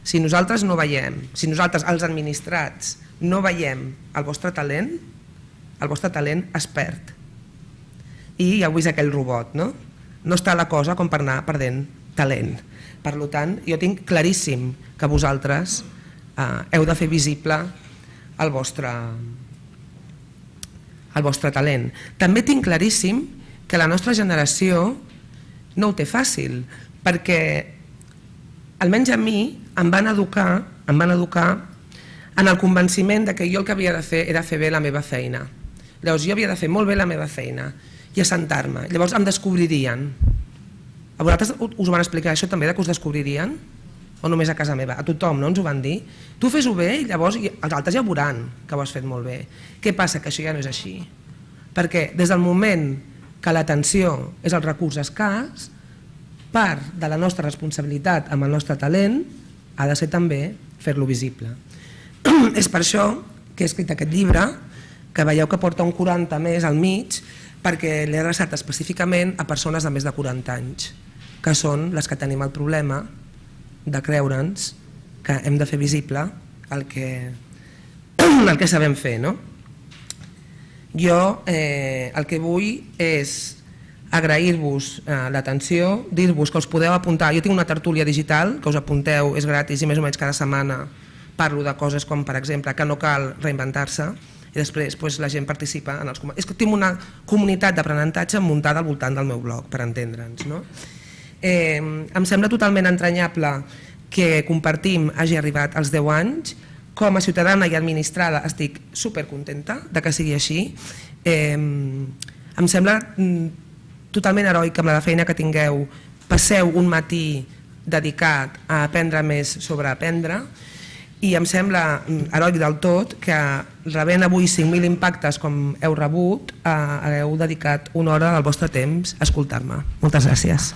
Si nosaltres no veiem, si nosaltres, els administrats, no veiem el vostre talent, el vostre talent es perd. I ja heu vist aquell robot, no? No està la cosa com per anar perdent talent. Per tant, jo tinc claríssim que vosaltres heu de fer visible el vostre el vostre talent. També tinc claríssim que la nostra generació no ho té fàcil, perquè almenys a mi em van educar em van educar en el convenciment que jo el que havia de fer era fer bé la meva feina. Llavors jo havia de fer molt bé la meva feina i assentar-me. Llavors em descobririen. A vosaltres us van explicar això també, que us descobririen? O només a casa meva? A tothom, no ens ho van dir? Tu fes-ho bé i llavors els altres ja veuran que ho has fet molt bé. Què passa? Que això ja no és així. Perquè des del moment que l'atenció és el recurs escàs, part de la nostra responsabilitat amb el nostre talent ha de ser també fer-lo visible. És per això que he escrit aquest llibre, que veieu que porta un quaranta més al mig, perquè l'he adreçat específicament a persones de més de quaranta anys, que són les que tenim el problema de creure'ns que hem de fer visible el que, el que sabem fer. No? Jo eh, el que vull és agrair-vos eh, l'atenció, dir-vos que us podeu apuntar. Jo tinc una tertúlia digital que us apunteu, és gratis i més o menys cada setmana parlo de coses com, per exemple, que no cal reinventar-se i després pues, la gent participa en els comentaris. És que tinc una comunitat d'aprenentatge muntada al voltant del meu blog, per entendre'ns. No? Eh, em sembla totalment entranyable que compartim hagi arribat als deu anys. Com a ciutadana i administrada estic supercontenta de que sigui així. Eh, em sembla totalment heroic amb la feina que tingueu. Passeu un matí dedicat a aprendre més sobre aprendre i em sembla heroic del tot que rebent avui cinc mil impactes com heu rebut, hagueu dedicat una hora del vostre temps a escoltar-me. Moltes gràcies.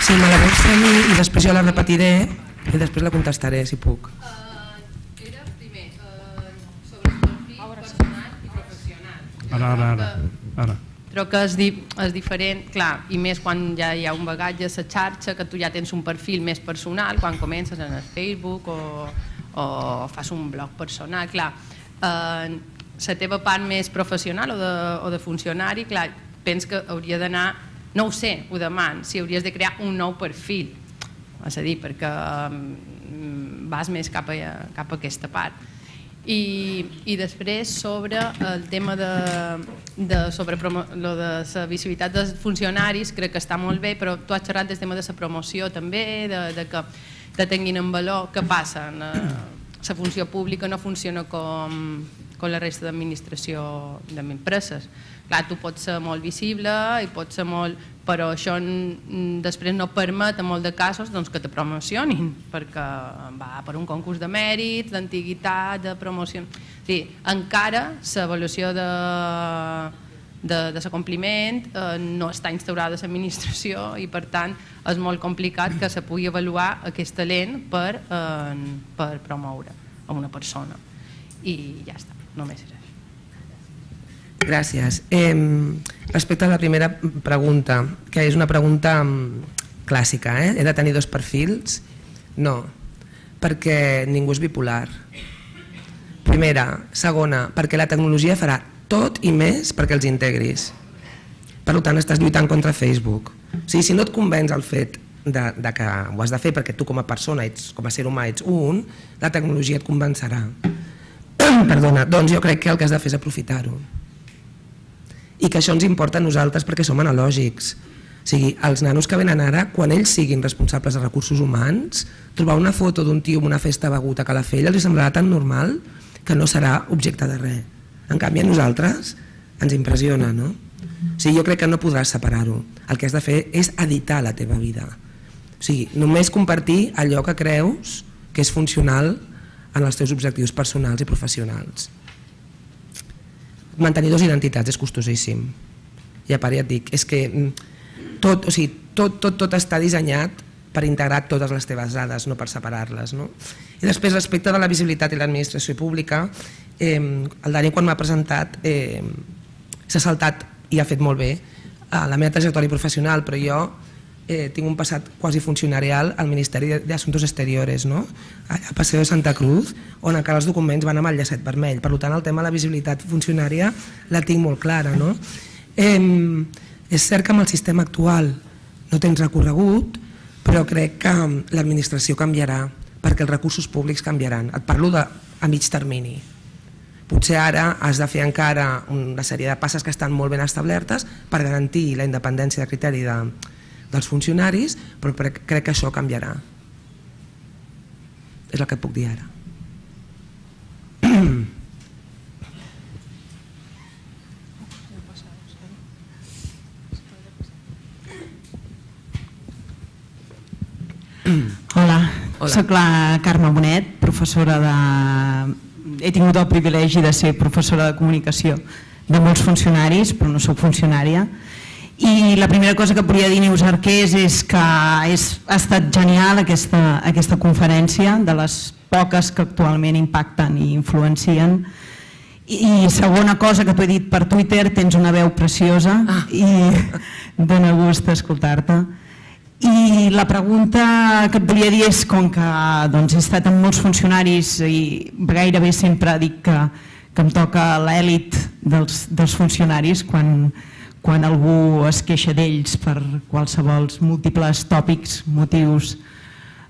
Sí, me la vols tenir i després jo la repetiré i després la contestaré si puc. Era primer sobre el perfil personal i professional. Ara, ara, ara. Crec que és, di és diferent, clar, i més quan ja hi ha un bagatge a la xarxa, que tu ja tens un perfil més personal, quan comences en el Facebook o, o fas un blog personal, clar, eh, la teva part més professional o de, o de funcionari, clar, penso que hauria d'anar, no ho sé, ho deman, si hauries de crear un nou perfil, és a dir, perquè um, vas més cap a, cap a aquesta part. I, i després sobre el tema de, de, sobre promo, lo de la visibilitat dels funcionaris, crec que està molt bé, però tu has xerrat del tema de la promoció també, de, de que te tinguin en valor. Què passa? La funció pública no funciona com, com la resta d'administració d'empreses. Clar, tu pots ser molt visible i pots ser molt... però això després no permet en molts de casos doncs, que te promocionin, perquè va per un concurs de mèrit, d'antiguitat, de promoció... Sí, encara l'avaluació de, de, de l'acompliment eh, no està instaurada a l'administració i per tant és molt complicat que se pugui avaluar aquest talent per, eh, per promoure a una persona. I ja està, només és això. Gràcies. Eh, respecte a la primera pregunta, que és una pregunta clàssica, eh? He de tenir dos perfils? No, perquè ningú és bipolar. Primera. Segona, perquè la tecnologia farà tot i més perquè els integris. Per tant, estàs lluitant contra Facebook. O sigui, si no et convenç el fet de, de que ho has de fer perquè tu com a persona, ets, com a ser humà, ets un, la tecnologia et convencerà. Perdona, doncs jo crec que el que has de fer és aprofitar-ho. I que això ens importa a nosaltres perquè som analògics. O sigui, els nanos que venen ara, quan ells siguin responsables de recursos humans, trobar una foto d'un tio en una festa begut a Calafell els semblarà tan normal que no serà objecte de res. En canvi a nosaltres ens impressiona, no? O sigui, jo crec que no podràs separar-ho. El que has de fer és editar la teva vida. O sigui, només compartir allò que creus que és funcional en els teus objectius personals i professionals. Mantenir dues identitats és costosíssim. I a part ja et dic, és que tot, o sigui, tot, tot, tot està dissenyat per integrar totes les teves dades, no per separar-les. No? I després, respecte de la visibilitat i l'administració pública, eh, el Dani quan m'ha presentat eh, s'ha saltat i ha fet molt bé a la meva trajectòria professional, però jo eh, tinc un passat quasi funcionarial al Ministeri d'Assumptos Exteriores, no? a Paseo de Santa Cruz, on encara els documents van amb el llacet vermell. Per tant, el tema de la visibilitat funcionària la tinc molt clara. No? Eh, és cert que amb el sistema actual no tens recorregut, però crec que l'administració canviarà, perquè els recursos públics canviaran. Et parlo de, a mig termini. Potser ara has de fer encara una sèrie de passes que estan molt ben establertes per garantir la independència de criteri de, dels funcionaris, però crec que això canviarà. És el que et puc dir ara. Hola, soc la Carme Bonet, professora de... He tingut el privilegi de ser professora de comunicació de molts funcionaris, però no soc funcionària. I la primera cosa que volia dir Neus Arqués és que és, ha estat genial aquesta, aquesta conferència, de les poques que actualment impacten i influencien. I segona cosa que t'ho he dit per Twitter, tens una veu preciosa i dona gust escoltar-te. I la pregunta que et volia dir és, com que doncs, he estat amb molts funcionaris i gairebé sempre dic que, que em toca l'èlit dels, dels funcionaris quan, quan algú es queixa d'ells per qualsevol múltiples tòpics, motius.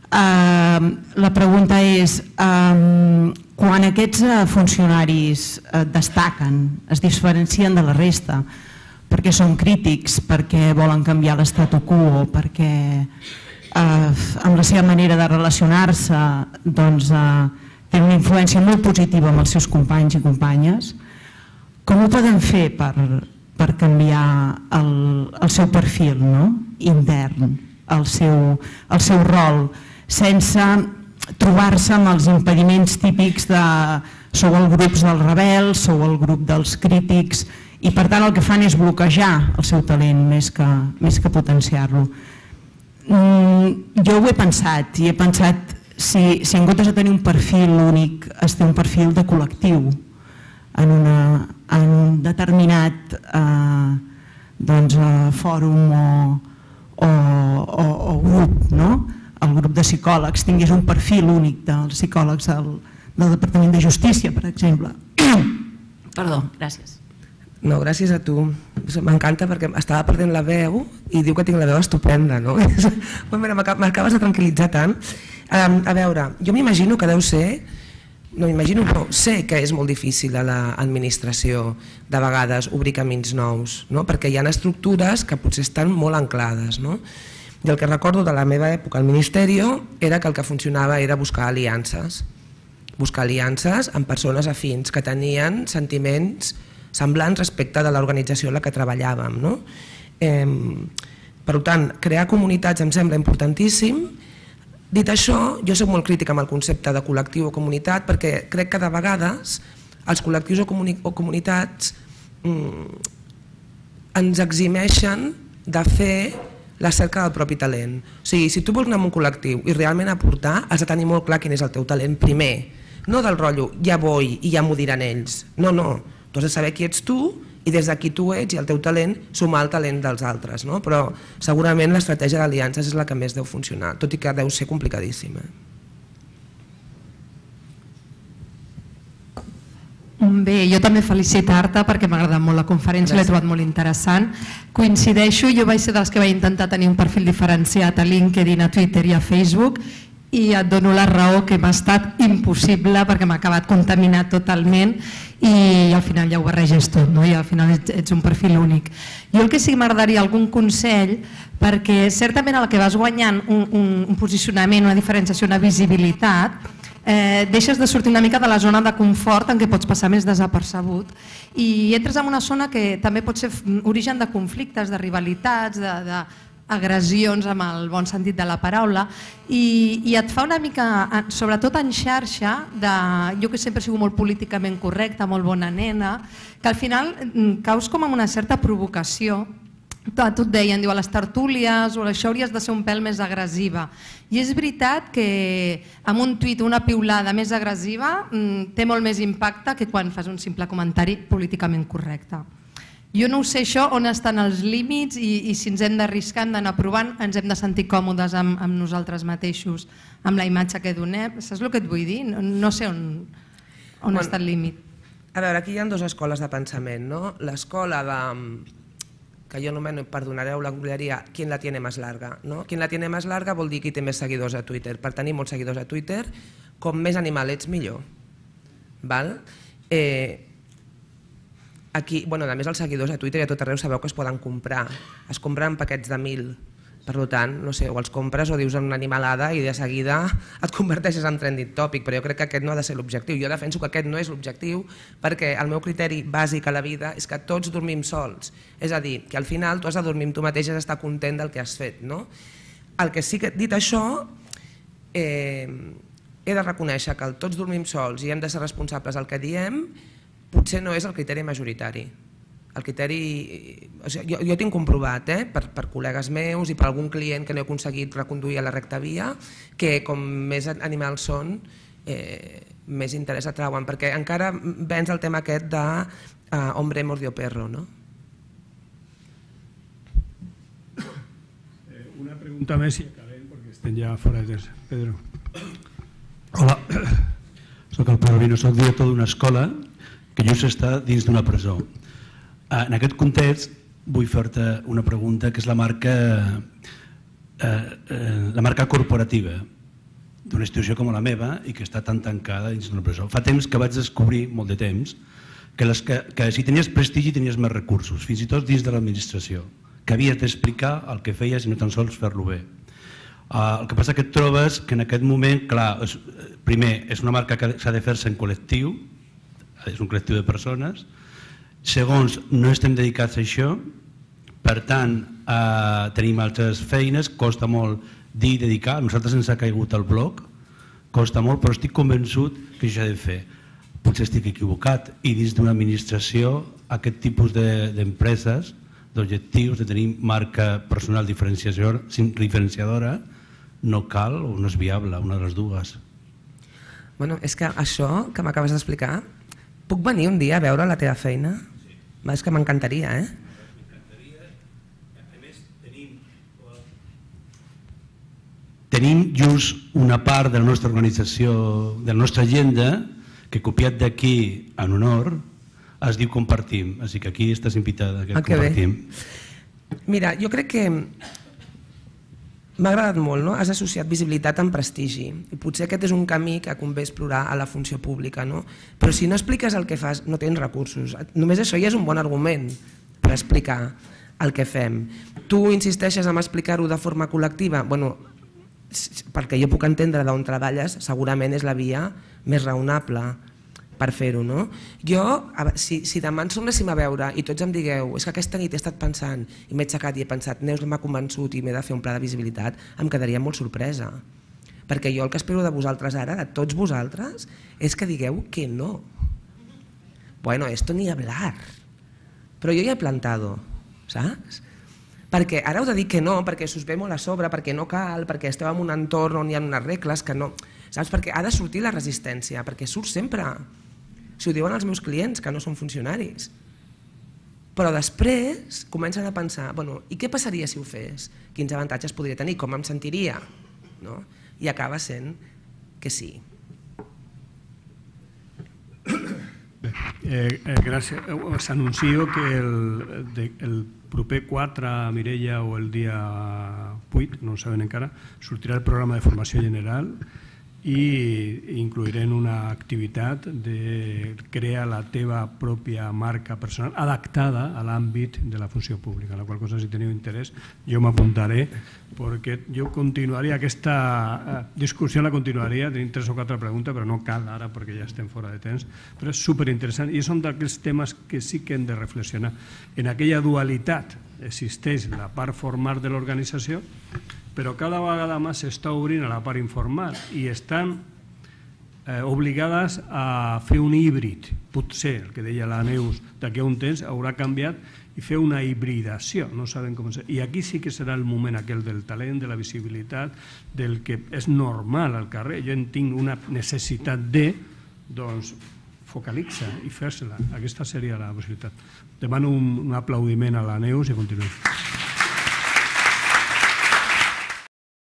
Uh, la pregunta és, uh, quan aquests funcionaris uh, destaquen, es diferencien de la resta, perquè són crítics, perquè volen canviar l'statu quo, perquè eh, amb la seva manera de relacionar-se doncs, eh, tenen una influència molt positiva amb els seus companys i companyes. Com ho poden fer per, per canviar el, el seu perfil, no? intern, el seu, el seu rol, sense trobar-se amb els impediments típics de sou el grup dels rebels, sou el grup dels crítics, i per tant el que fan és bloquejar el seu talent més que, més que potenciar-lo. Jo ho he pensat i he pensat si, si en comptes de tenir un perfil únic es té un perfil de col·lectiu en, una, en un determinat eh, fòrum o grup, el grup de psicòlegs tingués un perfil únic dels psicòlegs del Departament de Justícia, per exemple. Perdó, gràcies. No, gràcies a tu. M'encanta perquè estava perdent la veu i diu que tinc la veu estupenda, no? M'acabes de tranquil·litzar tant. A veure, jo m'imagino que deu ser, no m'imagino, no, sé que és molt difícil a l'administració de vegades obrir camins nous, perquè hi ha estructures que potser estan molt anclades. I el que recordo de la meva època al Ministeri era que el que funcionava era buscar aliances, buscar aliances amb persones afins que tenien sentiments semblants respecte de l'organització en la que treballàvem. Per tant, crear comunitats em sembla importantíssim. Dit això, jo soc molt crítica amb el concepte de col·lectiu o comunitat perquè crec que de vegades els col·lectius o comunitats ens eximeixen de fer la cerca del propi talent. O sigui, si tu vols anar a un col·lectiu i realment aportar, has de tenir molt clar quin és el teu talent primer. No del rotllo, ja vull i ja m'ho diran ells. No, no. Tu has de saber qui ets tu i des de qui tu ets i el teu talent sumar el talent dels altres. Però segurament l'estratègia d'aliances és la que més deu funcionar, tot i que deu ser complicadíssima. Bé, jo també felicitar-te perquè m'ha agradat molt la conferència, l'he trobat molt interessant. Coincideixo, jo vaig ser dels que vaig intentar tenir un perfil diferenciat a LinkedIn, a Twitter i a Facebook i et dono la raó que m'ha estat impossible perquè m'ha acabat contaminat totalment i al final ja ho barreges tot i al final ets un perfil únic. Jo el que sí que m'agradaria algun consell perquè certament el que vas guanyant un posicionament, una diferenciació, una visibilitat, deixes de sortir una mica de la zona de confort en què pots passar més desapercebut i entres en una zona que també pot ser origen de conflictes, de rivalitats, de agressions amb el bon sentit de la paraula i et fa una mica, sobretot en xarxa, jo que sempre he sigut molt políticament correcta, molt bona nena, que al final caus com amb una certa provocació. A tu et deien, a les tertúlies o això hauries de ser un pèl més agressiva i és veritat que amb un tuit o una piulada més agressiva té molt més impacte que quan fas un simple comentari políticament correcte. Jo no ho sé això, on estan els límits i si ens hem d'arriscar, hem d'anar provant, ens hem de sentir còmodes amb nosaltres mateixos, amb la imatge que donem. Saps el que et vull dir? No sé on està el límit. A veure, aquí hi ha dues escoles de pensament. L'escola de, que jo anomeno, perdonareu la googleria, quien la tiene más larga. Quien la tiene más larga vol dir qui té més seguidors a Twitter. Per tenir molts seguidors a Twitter, com més animal ets, millor. Aquí, a més els seguidors a Twitter i a tot arreu sabeu que es poden comprar, es compren paquets de mil, per tant, no sé, o els compres o dius una animalada i de seguida et converteixes en trending topic, però jo crec que aquest no ha de ser l'objectiu. Jo defenso que aquest no és l'objectiu perquè el meu criteri bàsic a la vida és que tots dormim sols, és a dir, que al final tu has de dormir amb tu mateix i has d'estar content del que has fet. El que sí que, dit això, he de reconèixer que tots dormim sols i hem de ser responsables del que diem, potser no és el criteri majoritari. El criteri, jo tinc comprovat per col·legues meus i per algun client que no he aconseguit reconduir a la recta via, que com més animals són, més interès atrauen, perquè encara vens el tema aquest de hombre mordió perro, no? Una pregunta més i acabem, perquè estem ja fora de temps. Pedro. Hola, soc el Pedro Vino, soc director d'una escola que just està dins d'una presó. En aquest context vull fer-te una pregunta que és la marca la marca corporativa d'una institució com la meva i que està tan tancada dins d'una presó. Fa temps que vaig descobrir, molt de temps, que si tenies prestigi tenies més recursos, fins i tot dins de l'administració, que havies d'explicar el que feies i no tan sols fer-lo bé. El que passa que et trobes que en aquest moment, clar, primer, és una marca que s'ha de fer-se en col·lectiu, és un col·lectiu de persones. Segons, no estem dedicats a això, per tant, tenim altres feines, costa molt dir i dedicar. A nosaltres ens ha caigut el blog, costa molt, però estic convençut que això s'ha de fer. Potser estic equivocat i dins d'una administració aquest tipus d'empreses, d'objectius, de tenir marca personal diferenciadora, no cal o no és viable, una de les dues. Bueno, és que això que m'acabes d'explicar, puc venir un dia a veure la teva feina? És que m'encantaria, eh? tenim just una part de la nostra organització, de la nostra agenda, que copiat d'aquí en honor es diu compartim, així que aquí estàs invitada, que compartim. Mira, jo crec que m'ha agradat molt, no? Has associat visibilitat amb prestigi i potser aquest és un camí que convé explorar a la funció pública, no? Però si no expliques el que fas, no tens recursos. Només això ja és un bon argument per explicar el que fem. Tu insisteixes en explicar-ho de forma col·lectiva? Bueno, perquè jo puc entendre d'on treballes, segurament és la via més raonable per fer-ho, no? Jo, si, si demà ens tornéssim a veure i tots em digueu és que aquesta nit he estat pensant i m'he aixecat i he pensat Neus m'ha convençut i m'he de fer un pla de visibilitat, em quedaria molt sorpresa. Perquè jo el que espero de vosaltres ara, de tots vosaltres, és que digueu que no. Bueno, esto ni hablar. Però jo ja he plantado, saps? Perquè ara heu de dir que no, perquè s'us ve molt a sobre, perquè no cal, perquè esteu en un entorn on hi ha unes regles que no... Saps? Perquè ha de sortir la resistència, perquè surt sempre. Si ho diuen els meus clients, que no són funcionaris. Però després comencen a pensar, bueno, i què passaria si ho fes? Quins avantatges podria tenir? Com em sentiria? No? I acaba sent que sí. Bé, eh, eh, gràcies. S'anuncio que el, de, el proper quatre, Mireia, o el dia vuit, no ho saben encara, sortirà el programa de formació general i inclourem una activitat de crear la teva pròpia marca personal adaptada a l'àmbit de la funció pública, la qual cosa, si teniu interès, jo m'apuntaré, perquè jo continuaria aquesta discussió, la continuaria, tenim tres o quatre preguntes, però no cal ara perquè ja estem fora de temps, però és superinteressant i són d'aquells temes que sí que hem de reflexionar. En aquella dualitat existeix la part formal de l'organització, però cada vegada més s'està obrint a la part informal i estan eh, obligades a fer un híbrid. Potser, el que deia la Neus, d'aquí a un temps haurà canviat i fer una hibridació, no saben com ser. I aquí sí que serà el moment aquell del talent, de la visibilitat, del que és normal al carrer. Jo en tinc una necessitat de, doncs, focalitza i fer-se-la. Aquesta seria la possibilitat. Demano un, un aplaudiment a la Neus i continuem.